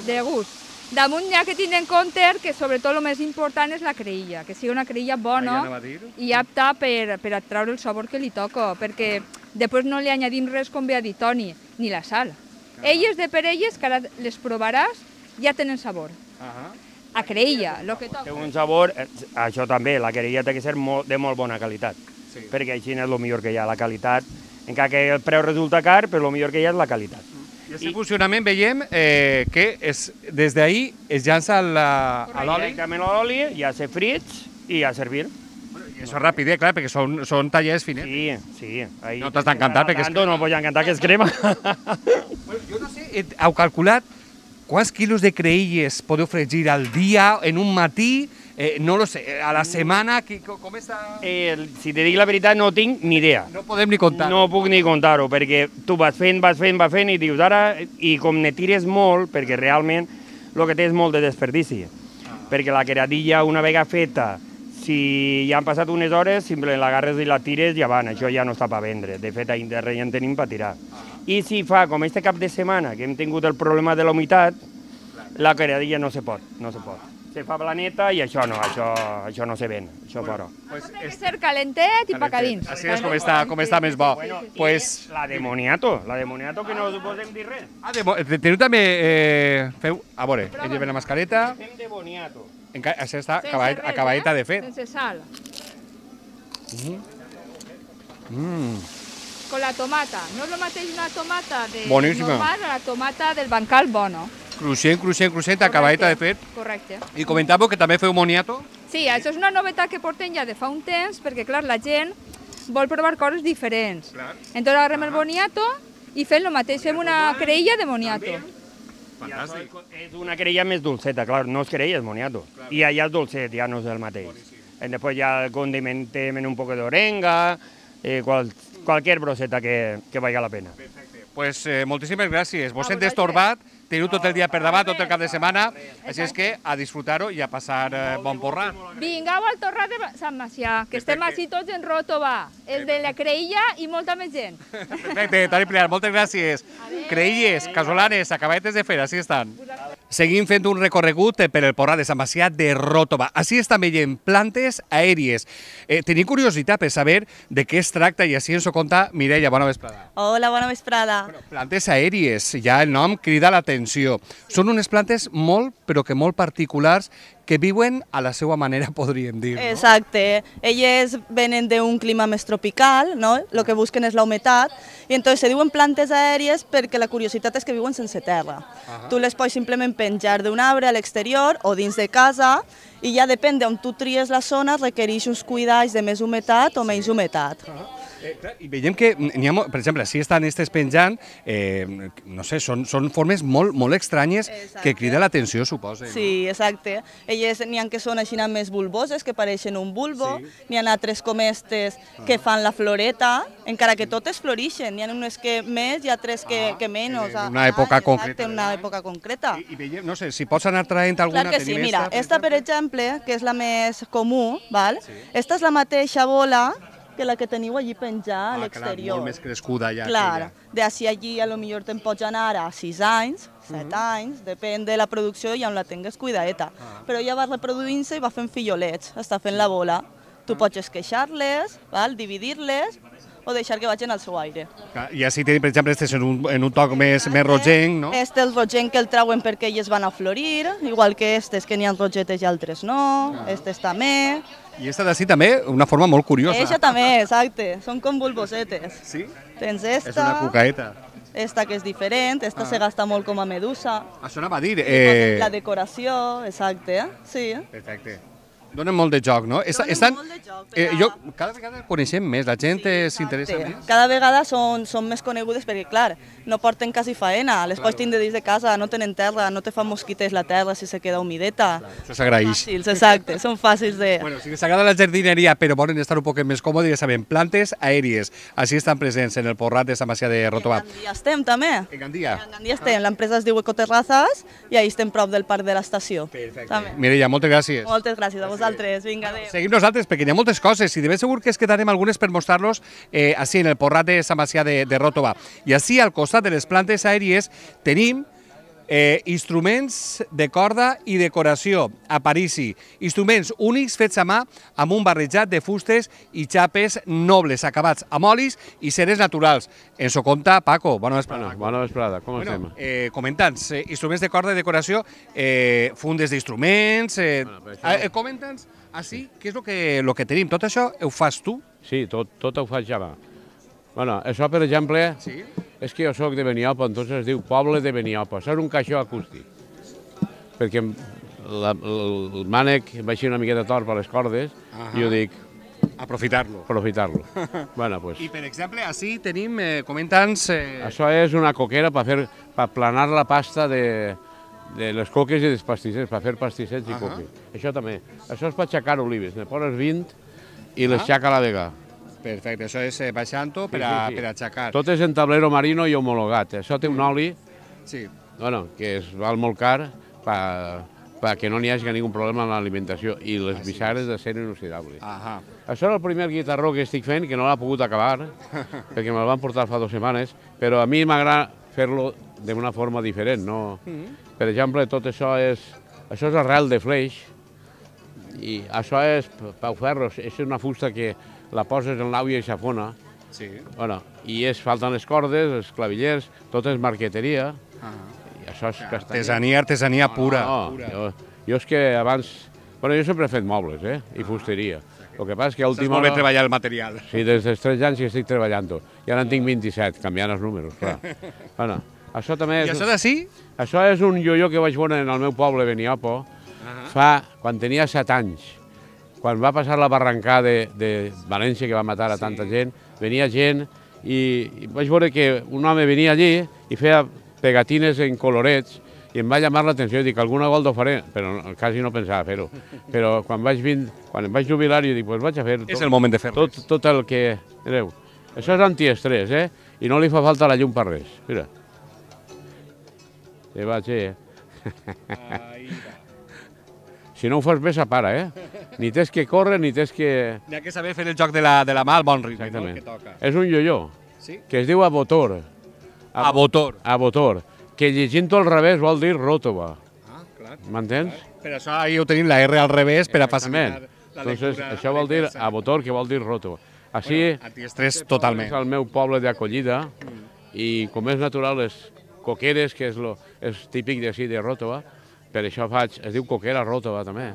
de gust. Damunt hi ha que tindre en compte que sobretot el més important és la creïlla, que sigui una creïlla bona Ah, ja anava a dir. i apta per, per atraure el sabor que li toca, perquè després no li añadim res, com bé ha dit Toni, ni la sal. Elles de per elles, que ara les provaràs, ja tenen sabor. A creïlla, el que toca. Té un sabor, eh, això també, la creïlla té que ser molt, de molt bona qualitat, sí. perquè així és el millor que hi ha, la qualitat, encara que el preu resulta car, però el millor que hi ha és la qualitat. I aquest funcionament veiem eh, que és, des d'ahir es llança la, a l'oli. Directament a l'oli, ja se frits i a servir. I això és ràpid, eh, clar, perquè són, són tallers finets. Sí, sí. Ahí no t'has d'encantar perquè és Tanto, no voy a encantar que es crema. Jo no sé, eh, heu calculat quants quilos de creïlles podeu fregir al dia, en un matí, eh, no lo sé, a la setmana, qui, com està? Eh, si te dic la veritat, no tinc ni idea. No podem ni comptar. No puc ni comptar-ho, perquè tu vas fent, vas fent, vas fent, i dius ara, i com ne tires molt, perquè realment el que té és molt de desperdici. Ah. Perquè la queradilla, una vegada feta, si ja han passat unes hores, simplement l'agarres i la tires i ja van, això ja no està per vendre. De fet, a Internet ja en tenim per tirar. I si fa, com este cap de setmana, que hem tingut el problema de la humitat, la queradilla no se pot, no se pot. Se fa planeta i això no, això, això no se ven, això bueno, Pues té que ser calentet i pacadins. Així és com està, com està més bo. Bueno, pues, la de moniato, la de moniato que no us podem dir res. ah, de, mo- de- teniu també, eh, feu, a veure, ell lleva la mascareta, Fem de boniato. enca- això està Sense acabat, res, acabadeta eh? de fet. Sense sal. Mm. Con la tomata. No és el mateix una tomata de Boníssima. normal a la tomata del bancal bono. Cruixent, cruixent, cruixent, acabadeta de fet. Correcte. I comentàveu que també feu moniato? Sí, això és una novetat que portem ja de fa un temps, perquè clar, la gent vol provar coses diferents. Entonces agarrem el boniato i fem el mateix, fem una creïlla de boniato. Fantàstic. És una querella més dolceta, clar, no és querella, és moniato. I allà és dolcet, ja no és el mateix. I després ja condimentem en un poc d'orenga, eh, qual, qualsevol broseta que, que valga la pena. Pues eh, moltíssimes gràcies. Vos hem destorbat, teniu tot el dia per davant, tot el cap de setmana, així és que a disfrutar-ho i a passar eh, bon porrat. Vingueu al Torrat de Sant Macià, que estem així tots en Ròtova, el de la creïlla i molta més gent. Perfecte, Toni Pilar, moltes gràcies. Creïlles, casolanes, acabadetes de fer, així estan. seguim fent un recorregut per el Porrat de Sant Macià de Ròtova. Així estan veient plantes aèries. Eh, tenim curiositat per saber de què es tracta i així ens ho conta Mireia. Bona vesprada. Hola, bona vesprada. Bueno, plantes aèries, ja el nom crida l'atenció. Són unes plantes molt, però que molt particulars, que viuen a la seva manera, podríem dir. No? Exacte. Elles venen d'un clima més tropical, no? El que busquen és la humitat, i entonces se diuen plantes aèries perquè la curiositat és que viuen sense terra. Uh-huh. Tu les pots simplement penjar d'un arbre a l'exterior o dins de casa, i ja depèn d'on tu tries la zona, requereix uns cuidats de més humitat o menys humitat. Uh-huh. Eh, clar, I veiem que, ha, per exemple, si estan estes penjant, eh, no sé, són, són formes molt, molt estranyes. Exacte. Que criden l'atenció, suposa. Sí, exacte. Elles n'hi ha que són així més bulboses, que pareixen un bulbo, sí. N'hi ha altres com estes que fan la floreta, encara que totes florixen. N'hi ha unes que més i altres que, ah, que menys. En una època ah, concreta. Exacte, en una època concreta. I, i veiem, no sé, si pots anar traient alguna... Clar que sí, mira, esta, per exemple, que és la més comú, val? Sí. Esta és la mateixa bola que la que teniu allí penjar a l'exterior. Ah, molt més crescuda ja. Clar, d'ací allí a lo millor te'n pots anar a sis anys, set anys, depèn de la producció i on la tingues cuidadeta. Però ja va reproduint-se i va fent fillolets, està fent la bola. Tu pots esqueixar-les, dividir-les o deixar que vagin al seu aire. I així tenim, per exemple, este en un, en un toc més, més rogenc, no? Este és el rogenc que el trauen perquè elles van a florir, igual que estes que n'hi ha rogetes i altres no, estes també. I esta d'ací també, una forma molt curiosa. Eixa també, exacte, són com bulbosetes. Sí? Tens esta... És una cucaeta. Esta que és diferent, esta ah. se gasta molt com a medusa. Això anava a dir. Eh... La decoració, exacte, sí. Perfecte. Donen molt de joc, no? Donen Estan... molt de joc. Eh, jo, cada vegada coneixem més, la gent sí, s'interessa més. Cada vegada són, són més conegudes perquè, clar, no porten quasi faena, les claro. Pots tindre dins de casa, no tenen terra, no te fan mosquites la terra si se queda humideta. Claro, això s'agraeix. Fàcils, exacte, són fàcils de... Bueno, si les agrada la jardineria però volen estar un poc més còmodes, ja sabem, plantes aèries, així estan presents en el Porrat de Sant Macià de Ròtova. En Gandia estem també. En Gandia? En Gandia estem, l'empresa es diu Ecoterrazas i ahí estem prop del parc de l'estació. Perfecte. Mireia, moltes gràcies. Moltes gràcies a vosaltres, vinga, adéu. Seguim nosaltres perquè hi ha moltes coses i de ben segur que es quedarem algunes per mostrar-los eh, així en el Porrat de Sant Macià de, de Ròtova. I així al costat de les plantes aèries tenim eh, instruments de corda i decoració a Parisi. Instruments únics fets a mà amb un barrejat de fustes i xapes nobles acabats amb olis i ceres naturals. Ens ho conta Paco. Bona vesprada. Bueno, bona vesprada, com bueno, estem? Eh, Comenta'ns, eh, instruments de corda i decoració, eh, fundes d'instruments, eh, bueno, eh, comenta'ns així, què és el que, lo que tenim? Tot això ho fas tu? Sí, tot, tot ho faig ja. Bueno, això, per exemple, sí? És que jo soc de Beniopa, entonces es diu Poble de Beniopa. Això és un caixó acústic. Perquè la, el mànec va així una miqueta tort per les cordes, uh -huh. i jo dic... Aprofitar-lo. Aprofitar-lo. bueno, pues... I, per exemple, així tenim, eh, comenta'ns... Eh... Això és una coquera per fer, per planar la pasta de, de les coques i dels pastissets, per fer pastissets uh -huh. i coques. Això també. Això és per aixecar olives. Ne poses vint i les aixeca a la vegada. Perfecte, això és baixant-ho per, a, sí, sí, sí. per aixecar. Tot és en tablero marino i homologat. Això té un oli sí. bueno, que es val molt car perquè no n'hi hagi ningú problema amb l'alimentació i les bissares de ser inoxidables. Ahà. Això és el primer guitarró que estic fent, que no l'ha pogut acabar, perquè me'l van portar fa dues setmanes, però a mi m'agrada fer-lo d'una forma diferent. No? Mm-hmm. Per exemple, tot això és, això és arrel de fleix, i això és pauferros, és una fusta que la poses en l'àvia i s'afona, sí. bueno, i es falten les cordes, els clavillers, tot és marqueteria, ah. i això és castanya. Artesania, artesania pura. No, no, pura. Jo, jo és que abans... Bueno, jo sempre he fet mobles, eh, i fusteria. El que passa és que a última hora... Saps molt bé treballar el material. Sí, des dels tres anys que estic treballant-ho. I ara en tinc vint-i-set, canviant els números, clar. bueno, això també és... I això d'ací? Això és un ioió que vaig veure en el meu poble, Beniopo, uh-huh. fa... quan tenia set anys. Quan va passar la barrancada de, de València, que va matar a tanta sí. gent, venia gent i, i vaig veure que un home venia allí i feia pegatines en colorets i em va llamar l'atenció i dic, alguna volta ho faré, però quasi no pensava fer-ho. Però quan vaig vint, quan em vaig jubilar, jo dic, pues vaig a fer tot, és el moment de fer tot, tot el que... Mireu, això és antiestrès, eh? I no li fa falta la llum per res. Mira. Se va, eh? Si no ho fas bé, s'apara, eh? Ni tens que córrer, ni tens que... N'hi ha que saber fer el joc de la, de la mà al bon ritme, exactament. No? Que toca. És un ioió, sí? que es diu abotor. Abotor. Abotor, que llegint-ho al revés vol dir Ròtova. m'entens? Per això ahir ho tenim la R al revés per a facilitar la Entonces, lectura. això vol dir a motor, que vol dir roto. Així, antiestrès totalment. És el meu poble d'acollida i com és natural les coqueres, que és, lo, és típic d'ací de Ròtova, per això faig, es diu coquera Ròtova també,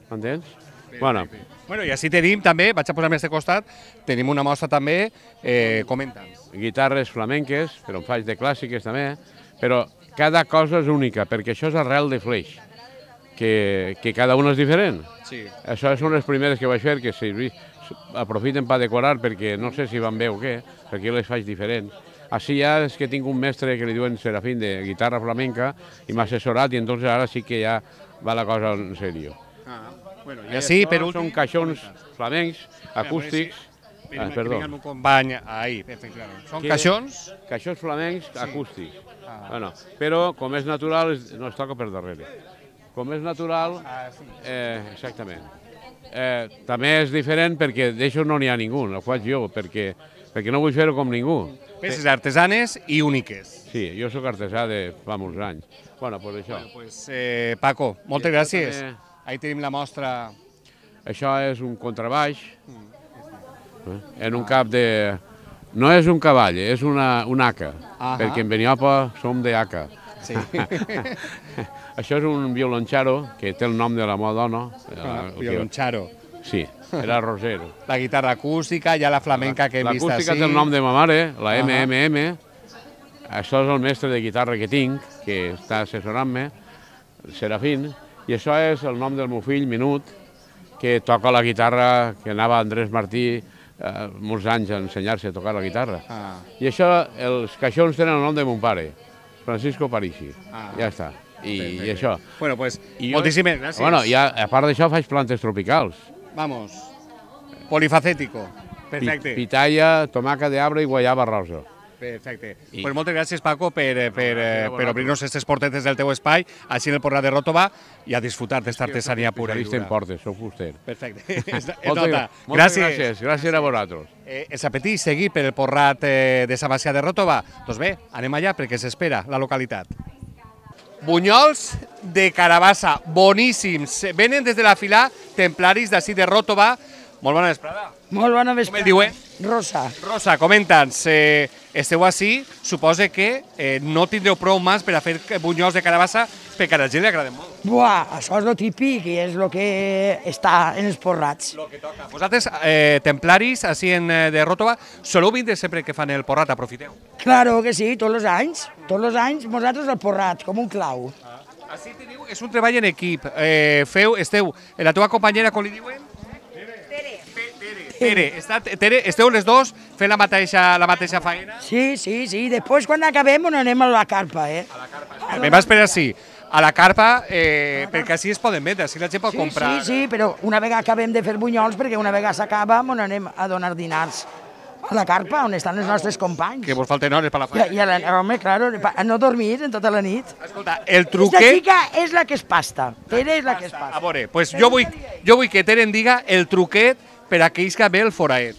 m'entens? Bueno. Bueno, i així tenim també, vaig a posar més de costat, tenim una mostra també, eh, comenta'ns. Guitarres flamenques, però en faig de clàssiques també, però cada cosa és única, perquè això és arrel de fleix, que, que cada una és diferent. Sí. Això són les primeres que vaig fer, que servi, aprofiten per decorar, perquè no sé si van bé o què, perquè jo les faig diferents. Així ja és que tinc un mestre que li diuen Serafín de guitarra flamenca i m'ha assessorat i entonces ara sí que ja va la cosa en sèrio. Ah, bueno, i així, per últim... Són caixons flamencs, acústics... Ah, perdó. Que vinga el meu company ahir, efectivament. Són caixons? Caixons flamencs Sí. acústics. Ah. Bueno, però com és natural, es- no es toca per darrere. Com és natural, Ah, eh, exactament. Eh, també és diferent perquè d'això no n'hi ha ningú, ho faig jo, perquè, perquè no vull fer-ho com ningú. Peces artesanes i úniques. Sí, jo sóc artesà de fa molts anys. Bueno, doncs això. Bueno, pues, eh, Paco, moltes I això gràcies. també- Ahí tenim la mostra. Això és un contrabaix, eh, en un cap de... No és un cavall, és una, un haca, Ahà. perquè en Beniopa som de haca. Sí. Això és un violoncharo, que té el nom de la meva dona. Ah, eh, violoncharo. Sí, era Rosero. La guitarra acústica, ja la flamenca que hem vist així. L'acústica té el nom de ma mare, la Ahà. M M M. Això és el mestre de guitarra que tinc, que està assessorant-me, el Serafín, i això és el nom del meu fill, Minut, que toca la guitarra, que anava a Andrés Martí eh, molts anys a ensenyar-se a tocar la guitarra. Ah. I això, els caixons tenen el nom de mon pare, Francisco Parisi. Ah. Ja està. I, Perfecte. i això. Bueno, pues, I jo- moltíssimes gràcies. Bueno, i a, a part d'això faig plantes tropicals. Vamos. Polifacético. Perfecte. Pi- Pitaya, tomaca de arbre i guayaba rosa. Perfecte. I- Pues moltes gràcies, Paco, per, eh, per, eh, gràcies a per vosaltres. obrir-nos aquestes portetes del teu espai, així en el Porrat de Ròtova, i a disfrutar d'esta artesania pura i Especialista en dura. portes, sóc fuster. Perfecte. Es, es Moltes, nota. moltes gràcies. Gràcies a vosaltres. Eh, els apetits seguir per el Porrat eh, de Sant Macià de Ròtova? Doncs bé, anem allà perquè s'espera la localitat. Bunyols de carabassa, boníssims. Venen des de la fila templaris d'ací de Ròtova. Molt bona vesprada. Molt bona Com vesprada. el diuen? Rosa. Rosa, comenta'ns, eh, esteu així, suposa que eh, no tindreu prou mans per a fer bunyols de carabassa perquè a la gent li agraden molt. Buah, això és lo típic i és el que està en els porrats. Vosaltres, eh, templaris, així en, eh, de Ròtova, soleu vindre sempre que fan el porrat, aprofiteu? Claro que sí, tots els anys. Tots els anys nosaltres el porrat, com un clau. Així teniu, és un treball en equip. Eh, feu, esteu, eh, la teva companyera, com li diuen? Tere, està, Tere, esteu les dos fent la mateixa, la mateixa feina? Sí, sí, sí. Després, quan acabem, on anem a la carpa, eh? Me va esperar així, a la carpa, eh, perquè així es poden vendre, així la gent pot Sí, comprar. sí, sí, però una vegada acabem de fer bunyols, perquè una vegada s'acaba, on anem a donar dinars. A la carpa, on estan els nostres companys. Que vos falten hores per la I, feina. i a la, home, claro, a no dormir en tota la nit. Escolta, el Esta truquet... xica és la que es pasta. Tere és la que es pasta. A veure, pues jo vull, jo vull que Tere em diga el truquet per a que isca bé el foraet.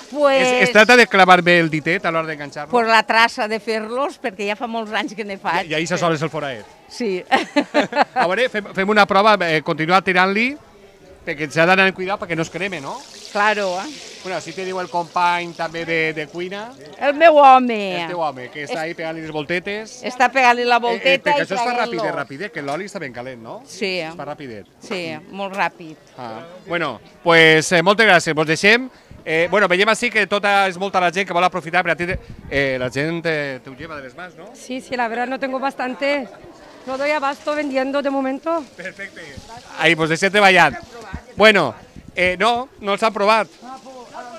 Pues, Es, es trata de clavar bé el ditet a l'hora d'enganxar-lo. por la traça de fer-los, perquè ja fa molts anys que ne faig. I ahir se soles el foraet. Sí. A veure, fem, fem una prova, eh, continuar tirant-li, perquè s'ha d'anar amb cuidado perquè no es creme, no? Claro, eh? Bueno, així te diu el company també de, de cuina, El meu home. el teu home, que està ahí pegant-li les voltetes. Està pegant-li la Eh, eh, volteta perquè i això es fa traient-lo. rapidet, rapidet, que l'oli està ben calent, no? Sí. Es fa rapidet. Sí, molt ràpid. Ah. Bueno, pues eh, moltes gràcies, vos deixem. Eh, bueno, veiem així que tota, és molta la gent que vol aprofitar per a ti. Eh, la gent eh, te ho lleva de les mans, ¿no? Sí, sí, la verdad no tengo bastante. No doy abasto vendiendo de momento. Perfecte. Ahí, pues deixem treballant. Bueno, eh, no, no els han provat.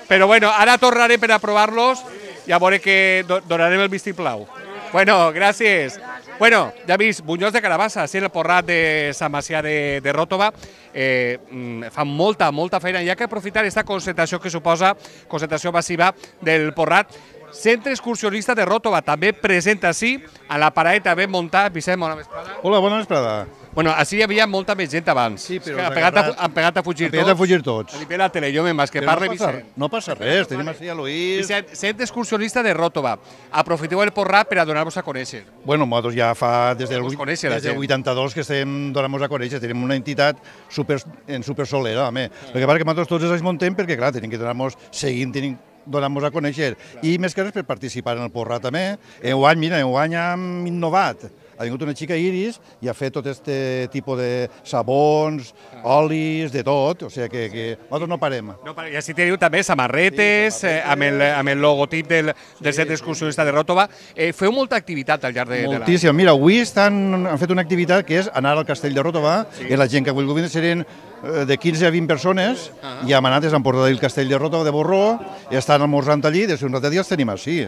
Però bueno, ara tornaré per a provar-los i a veure que do donarem el vistiplau. Bueno, gràcies. Bueno, ja he vist, bunyols de carabassa, així en el Porrat de Sant Macià de, de Ròtova. Eh, mm, fan molta, molta feina. Hi ha que aprofitar aquesta concentració que suposa, concentració massiva del Porrat. Centre excursionista de Ròtova també present així, a la paraeta ben muntat. Vicent, bona vesprada. Hola, bona vesprada. Bueno, així hi havia molta més gent abans. Sí, però han els pegat, a, agarrats- han pegat a fugir han pegat a tots. fugir tots. A nivell de tele, jo més que Però parle no passa- Vicent. no passa res, tenim així a Luís. Vicent, sent excursionista de Ròtova, aprofiteu el Porrat per a donar-vos a conèixer. Bueno, nosaltres ja fa des del, Us conèixer la des del gent. vuitanta-dos que estem donant-nos a conèixer, tenim una entitat super, en supersolera, home. El que passa que nosaltres tots els anys montem perquè, clar, tenim que donar-nos, seguim tenim donar-nos a conèixer. I més que res per participar en el Porrat també. Enguany, mira, enguany hem innovat. Ha vingut una xica Iris i ha fet tot aquest tipus de sabons, olis, de tot, o sigui que, que nosaltres no parem. No, I així teniu també samarretes, eh, amb, el, amb el logotip del, del centre excursionista de Ròtova. Eh, feu molta activitat al llarg de, de la... Moltíssim. Mira, avui estan, han fet una activitat que és anar al castell de Ròtova, Sí. i la gent que ha volgut vindre serien eh, de quinze a vint persones, i hem anat, han portat el castell de Ròtova de Borró, i estan almorzant allí, des d'un ratet ja els tenim així.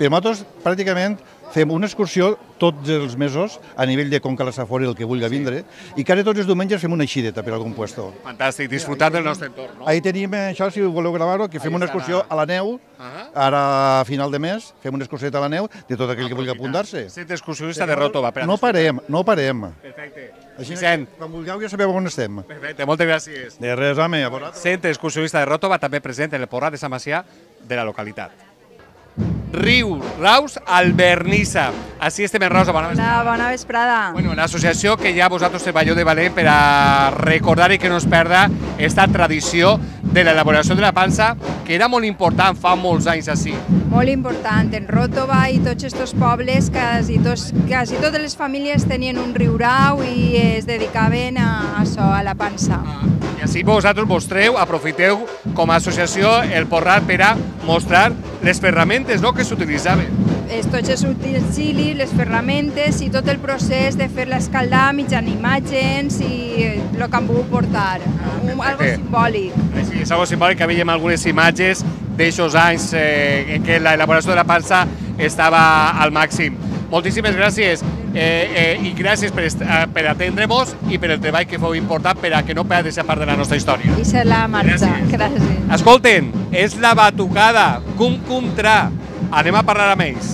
Però nosaltres, pràcticament, fem una excursió tots els mesos a nivell de Conca la Safor, el que vulgui vindre, i quasi tots els diumenges fem una eixideta per algun puesto. Fantàstic, disfrutar del nostre entorn. No? Ahí tenim eh, això, si voleu gravar-ho, que fem una excursió a la neu, ara a final de mes, fem una excursió a la neu de tot aquell que vulgui apuntar-se. Centre excursionista de Ròtova. per a No parem, no parem. Perfecte. Així Vicent. que, quan vulgueu, ja sabeu on estem. Perfecte, moltes gràcies. De res, home, a vosaltres. Centre excursionista de Ròtova, també present en el Porrat de Sant Macià de la localitat. Riu, Raus, Albernissa. Així estem en Rosa, bona vesprada. Hola, bona vesprada. Bueno, una associació que ja vosaltres treballeu de valent per a recordar i que no es perda esta tradició de l'elaboració de la pansa, que era molt important fa molts anys així. Molt important, en Ròtova i tots aquests pobles, quasi, tos, quasi totes les famílies tenien un riurau i es dedicaven a això, a la pansa. I així vosaltres mostreu, aprofiteu com a associació el Porrat per a mostrar les ferramentes, no?, que s'utilitzaven. Es, tots els utensilis, les ferramentes i tot el procés de fer-la escaldar mitjan imatges i el que han volgut portar. Un, algo simbòlic. Sí, és algo simbòlic que veiem algunes imatges d'aixòs anys eh, en què l'elaboració de la pansa estava al màxim. Moltíssimes gràcies eh, eh, i gràcies per, est- eh, per atendre-nos i per el treball que feu important per a que no perdi aquesta part de la nostra història. I ser la marxa. Gràcies. Escolten, és la batucada, cum cum tra. Anem a parlar amb ells.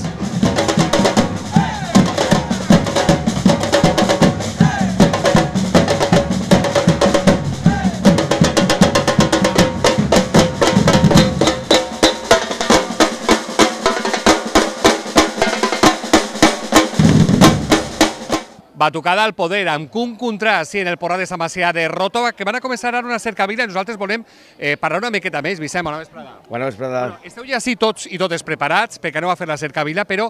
Batucada al poder, amb Cum Contra, sí, en el Porrat de Sant Macià de Ròtova, que van a començar ara una cercavila i nosaltres volem eh, parlar una miqueta més. Vicent, bona vesprada. Bona vesprada. Bueno, esteu ja sí tots i totes preparats perquè aneu a fer la cercavila, però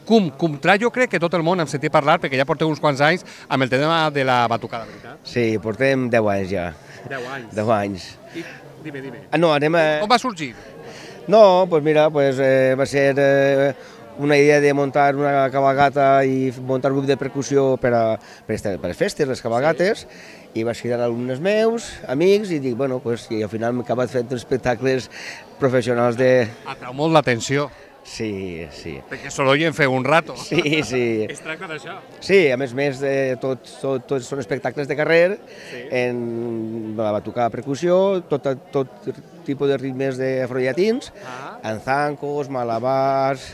Cum Contra jo crec que tot el món hem sentit parlar perquè ja porteu uns quants anys amb el tema de la batucada, veritat? Sí, portem deu anys ja. Deu anys. Deu anys. I, dime, dime. Ah, no, anem a... Com va sorgir? No, doncs pues mira, pues, eh, va ser eh, una idea de muntar una cabalgata i muntar un grup de percussió per a, per a, per a les festes, les cabalgates, sí. I vaig cridar alumnes meus, amics, i dic, bueno, pues, i al final m'he acabat fent espectacles professionals de... Atrau molt l'atenció. Sí, sí. Perquè solo hi en feu un rato. Sí, sí. Es tracta d'això. Sí, a més més, eh, tots tot, tot són espectacles de carrer, Sí. en la batucada percussió, tot, tot tipus de ritmes afrollatins, Ah. en zancos, malabars,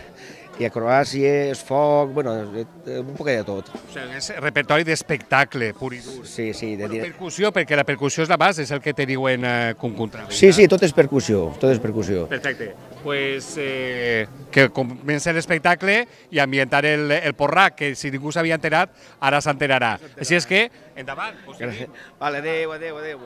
i acrobàcies, foc, bueno, eh, un poc de tot. O sigui, és repertori d'espectacle, pur i dur. Sí, sí. De Bueno, percussió, perquè la percussió és la base, és el que teniu en eh, Cum Contra. Sí, sí, tot és percussió, tot és percussió. Perfecte. Pues eh, que comença l'espectacle i ambientar el, el Porrat, que si ningú s'havia enterat, ara s'enterarà. Així és que, endavant. Gràcies. Vale, adéu, adéu, adéu.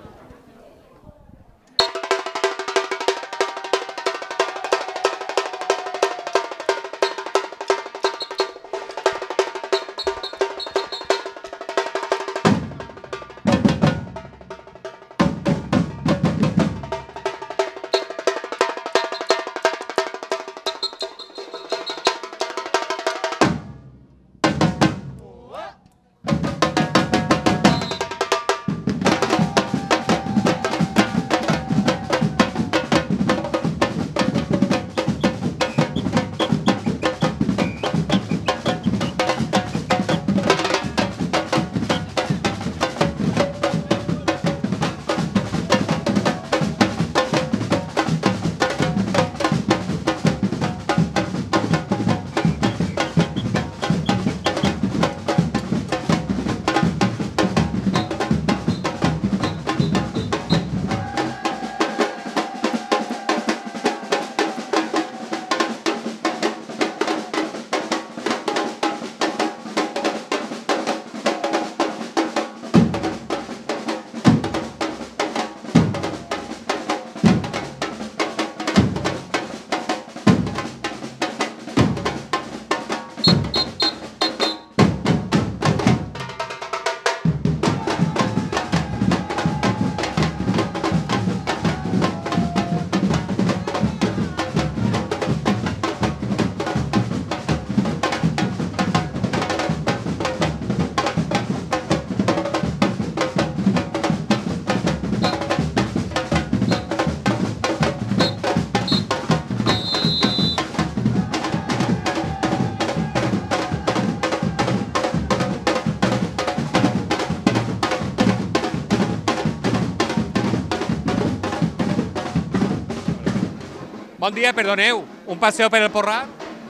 Bon dia, perdoneu, un paseo per el Porrat?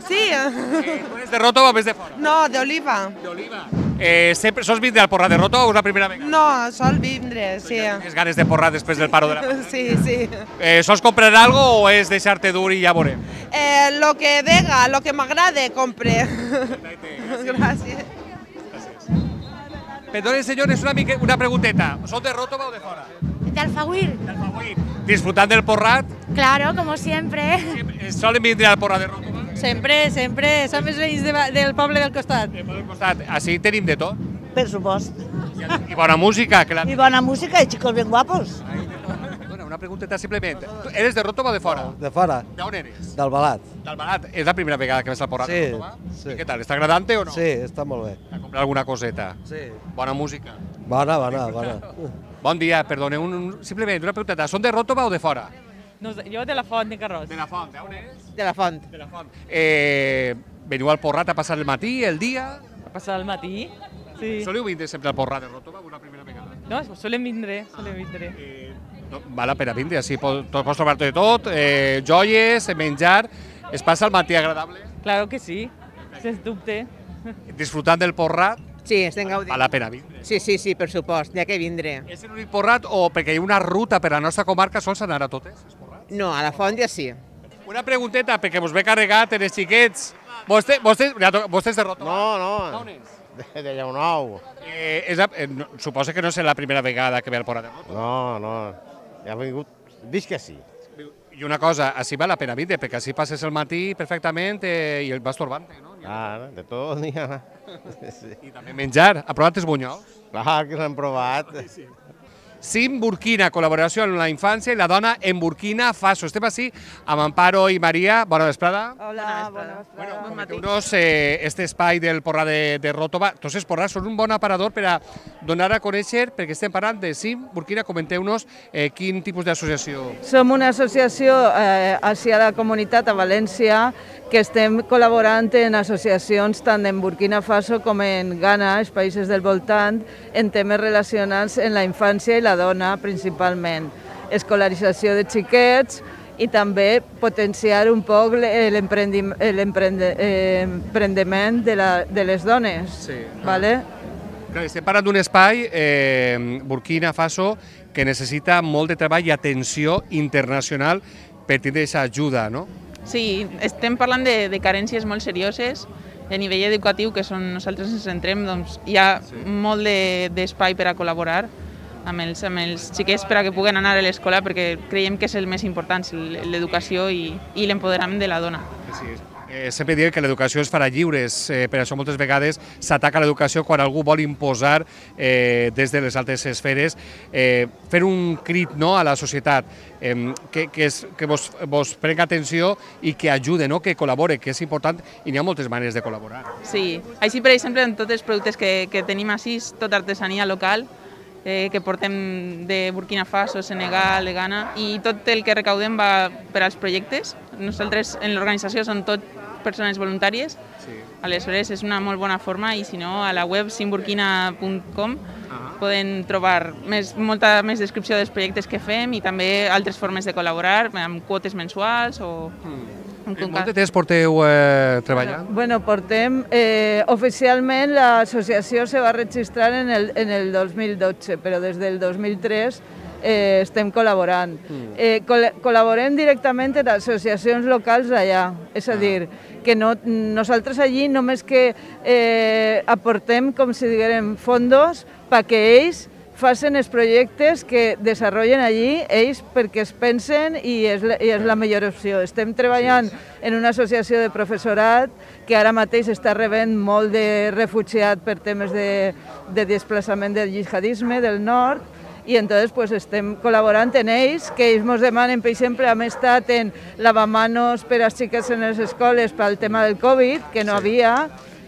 Sí. Eh, tu eres de Ròtova o ves de fora? No, d'Oliva. D'Oliva. Eh, sempre sols vindre al Porrat de Ròtova o és la primera vegada? No, sol vindre, sí. Tens ganes de Porrat després del paro de la pandèmia? Sí, sí. Eh, sols comprar algo o és deixar-te dur i ja veurem? Eh, lo que vega, lo que m'agrade, compre. Gràcies. Perdone, señores, una, mica, una pregunteta. ¿Son de Ròtova o de fora? De Alfagüir. De Alfagüir. ¿Disfrutando del Porrat? Claro, como siempre. ¿Solen vindre al Porrat de Ròtova? Sempre, sempre. Som els veïns de, del poble del costat. Del poble del costat. Així tenim de tot? Per supost. I bona música. Que la... I bona música i xicos ben guapos. Bueno, una pregunteta simplement. ¿Tú eres de Ròtova o de fora? De fora. ¿De on eres? D'Albalat. D'Albalat. És la primera vegada que ves al Porrat sí, de Ròtova? Sí. I què tal? Està agradant-te o no? Sí, està molt bé. A comprar alguna coseta? Sí. Bona música? Bona, bona, bona. Bon dia, perdone, un, un, simplement una pregunteta. Són de Ròtova o de fora? No, jo de la Font, de Carròs. De la Font, d'on és? De la Font. De la Font. Eh, veniu al Porrat a passar el matí, el dia? A passar el matí, sí. Soleu vindre sempre al Porrat de Ròtova una primera vegada? No, solem vindre, solem vindre. Eh, no, val la pena vindre, així pots, pots trobar-te de tot, eh, joies, menjar, es passa el matí agradable? Claro que sí, sens dubte. Disfrutant del Porrat? Sí, estem gaudint. Val la pena vindre? Sí, sí, sí, per supost, n'hi ha que vindre. És l'únic Porrat o perquè hi ha una ruta per a la nostra comarca sols anar a totes? No, a la Font ja sí. Una pregunteta, perquè vos ve carregat en els xiquets. Vostè, vostè, vostè és de Ròtova? No, no. On és? De, de Llaunou. Eh, és la, eh, no, suposa que no és la primera vegada que ve al Porrat de Ròtova. No, no. Ja he vingut, visc que sí. I una cosa, així val la pena vindre, perquè així passes el matí perfectament eh, i el vas torbant, no? Ah, de tot n'hi ha. Sí. I també menjar. Ha provat els bunyols? Clar que l'hem provat. Sí. Sim Burkina, col·laboració amb la infància i la dona en Burkina Faso. Estem així amb Amparo i Maria. Bona vesprada. Hola, bona vesprada. Bueno, comenteu-nos eh, este espai del Porrat de, de Ròtova. Tots els porrats són un bon aparador per a donar a conèixer, perquè estem parlant de Sim Burkina. Comenteu-nos eh, quin tipus d'associació. Som una associació eh, hacia la comunitat a València que estem col·laborant en associacions tant en Burkina Faso com en Ghana, els països del voltant, en temes relacionats amb la infància i la dona principalment. Escolarització de xiquets i també potenciar un poc l'emprendiment de, la, de les dones. Sí. Vale? Clar, estem parlant d'un espai, eh, Burkina Faso, que necessita molt de treball i atenció internacional per tindre aquesta ajuda, no? Sí, estem parlant de, de carències molt serioses a nivell educatiu, que són nosaltres ens centrem, doncs hi ha sí. molt d'espai de, per a col·laborar amb els, amb els xiquets per a que puguen anar a l'escola, perquè creiem que és el més important, l'educació i, i l'empoderament de la dona. Sí, eh, sempre diem que l'educació es farà lliures, eh, per això moltes vegades s'ataca l'educació quan algú vol imposar eh, des de les altes esferes, eh, fer un crit no, a la societat, eh, que, que, és, que vos, vos prenga atenció i que ajude, no, que col·labore, que és important i n'hi ha moltes maneres de col·laborar. Sí, així per exemple en tots els productes que, que tenim així, tota artesania local, eh, que portem de Burkina Faso, Senegal, de Ghana, i tot el que recaudem va per als projectes. Nosaltres en l'organització són tot persones voluntàries, sí. Aleshores és una molt bona forma i si no a la web simburkina punt com uh-huh. poden trobar més, molta més descripció dels projectes que fem i també altres formes de col·laborar amb quotes mensuals o... Mm. Molt de temps porteu eh, treballant? Bueno, portem... Eh, oficialment l'associació se va registrar en el, en el dos mil dotze, però des del dos mil tres eh, estem col·laborant. Mm. Eh, col col·laborem directament en associacions locals d'allà, és a dir, que no, nosaltres allí només que eh, aportem, com si diguem, fondos perquè ells facin els projectes que desenvolupen allí ells perquè es pensen i és, la, i és la millor opció. Estem treballant en una associació de professorat que ara mateix està rebent molt de refugiat per temes de, de desplaçament del jihadisme del nord i entonces pues, estem col·laborant en ells, que ells ens demanen, per exemple, hem estat en lavamanos per als xiquets en les escoles pel tema del Covid, que no sí. havia,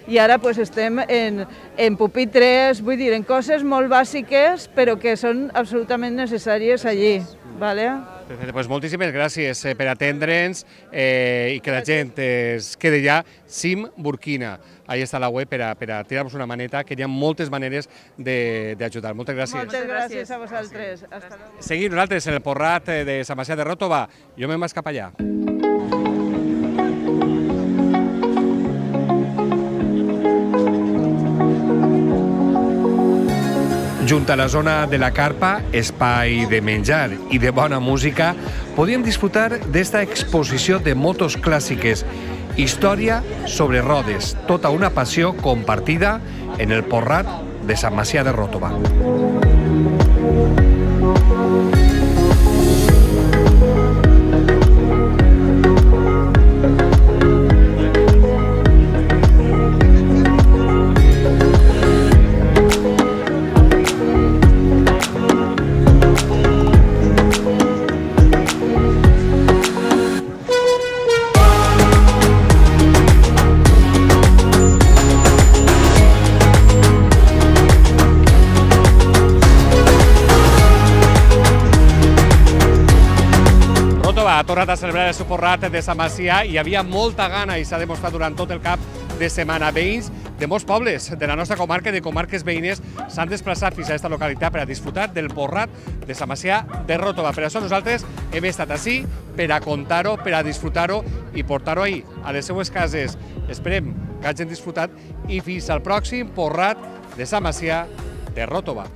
i ara pues, estem en, en pupitres, vull dir, en coses molt bàsiques, però que són absolutament necessàries allí. Vale? Perfecte, doncs moltíssimes gràcies per atendre'ns eh, i que la gent es quedi allà. Sim Burkina, ahí està la web per a, per a tirar-nos una maneta, que hi ha moltes maneres d'ajudar. Moltes gràcies. Moltes gràcies a vosaltres. Hasta luego. Seguim nosaltres en el Porrat de Sant Macià de Ròtova. Jo me'n vaig cap allà. Junt a la zona de la carpa, espai de menjar i de bona música, podíem disfrutar d'esta exposició de motos clàssiques, història sobre rodes, tota una passió compartida en el Porrat de Sant Macià de Ròtova. Ha tornat a celebrar el seu Porrat de Sant Macià i hi havia molta gana i s'ha demostrat durant tot el cap de setmana. Veïns de molts pobles de la nostra comarca i de comarques veïnes s'han desplaçat fins a aquesta localitat per a disfrutar del Porrat de Sant Macià de Ròtova. Per això nosaltres hem estat ací per a contar-ho, per a disfrutar-ho i portar-ho ahir a les seues cases. Esperem que hagin disfrutat i fins al pròxim Porrat de Sant Macià de Ròtova.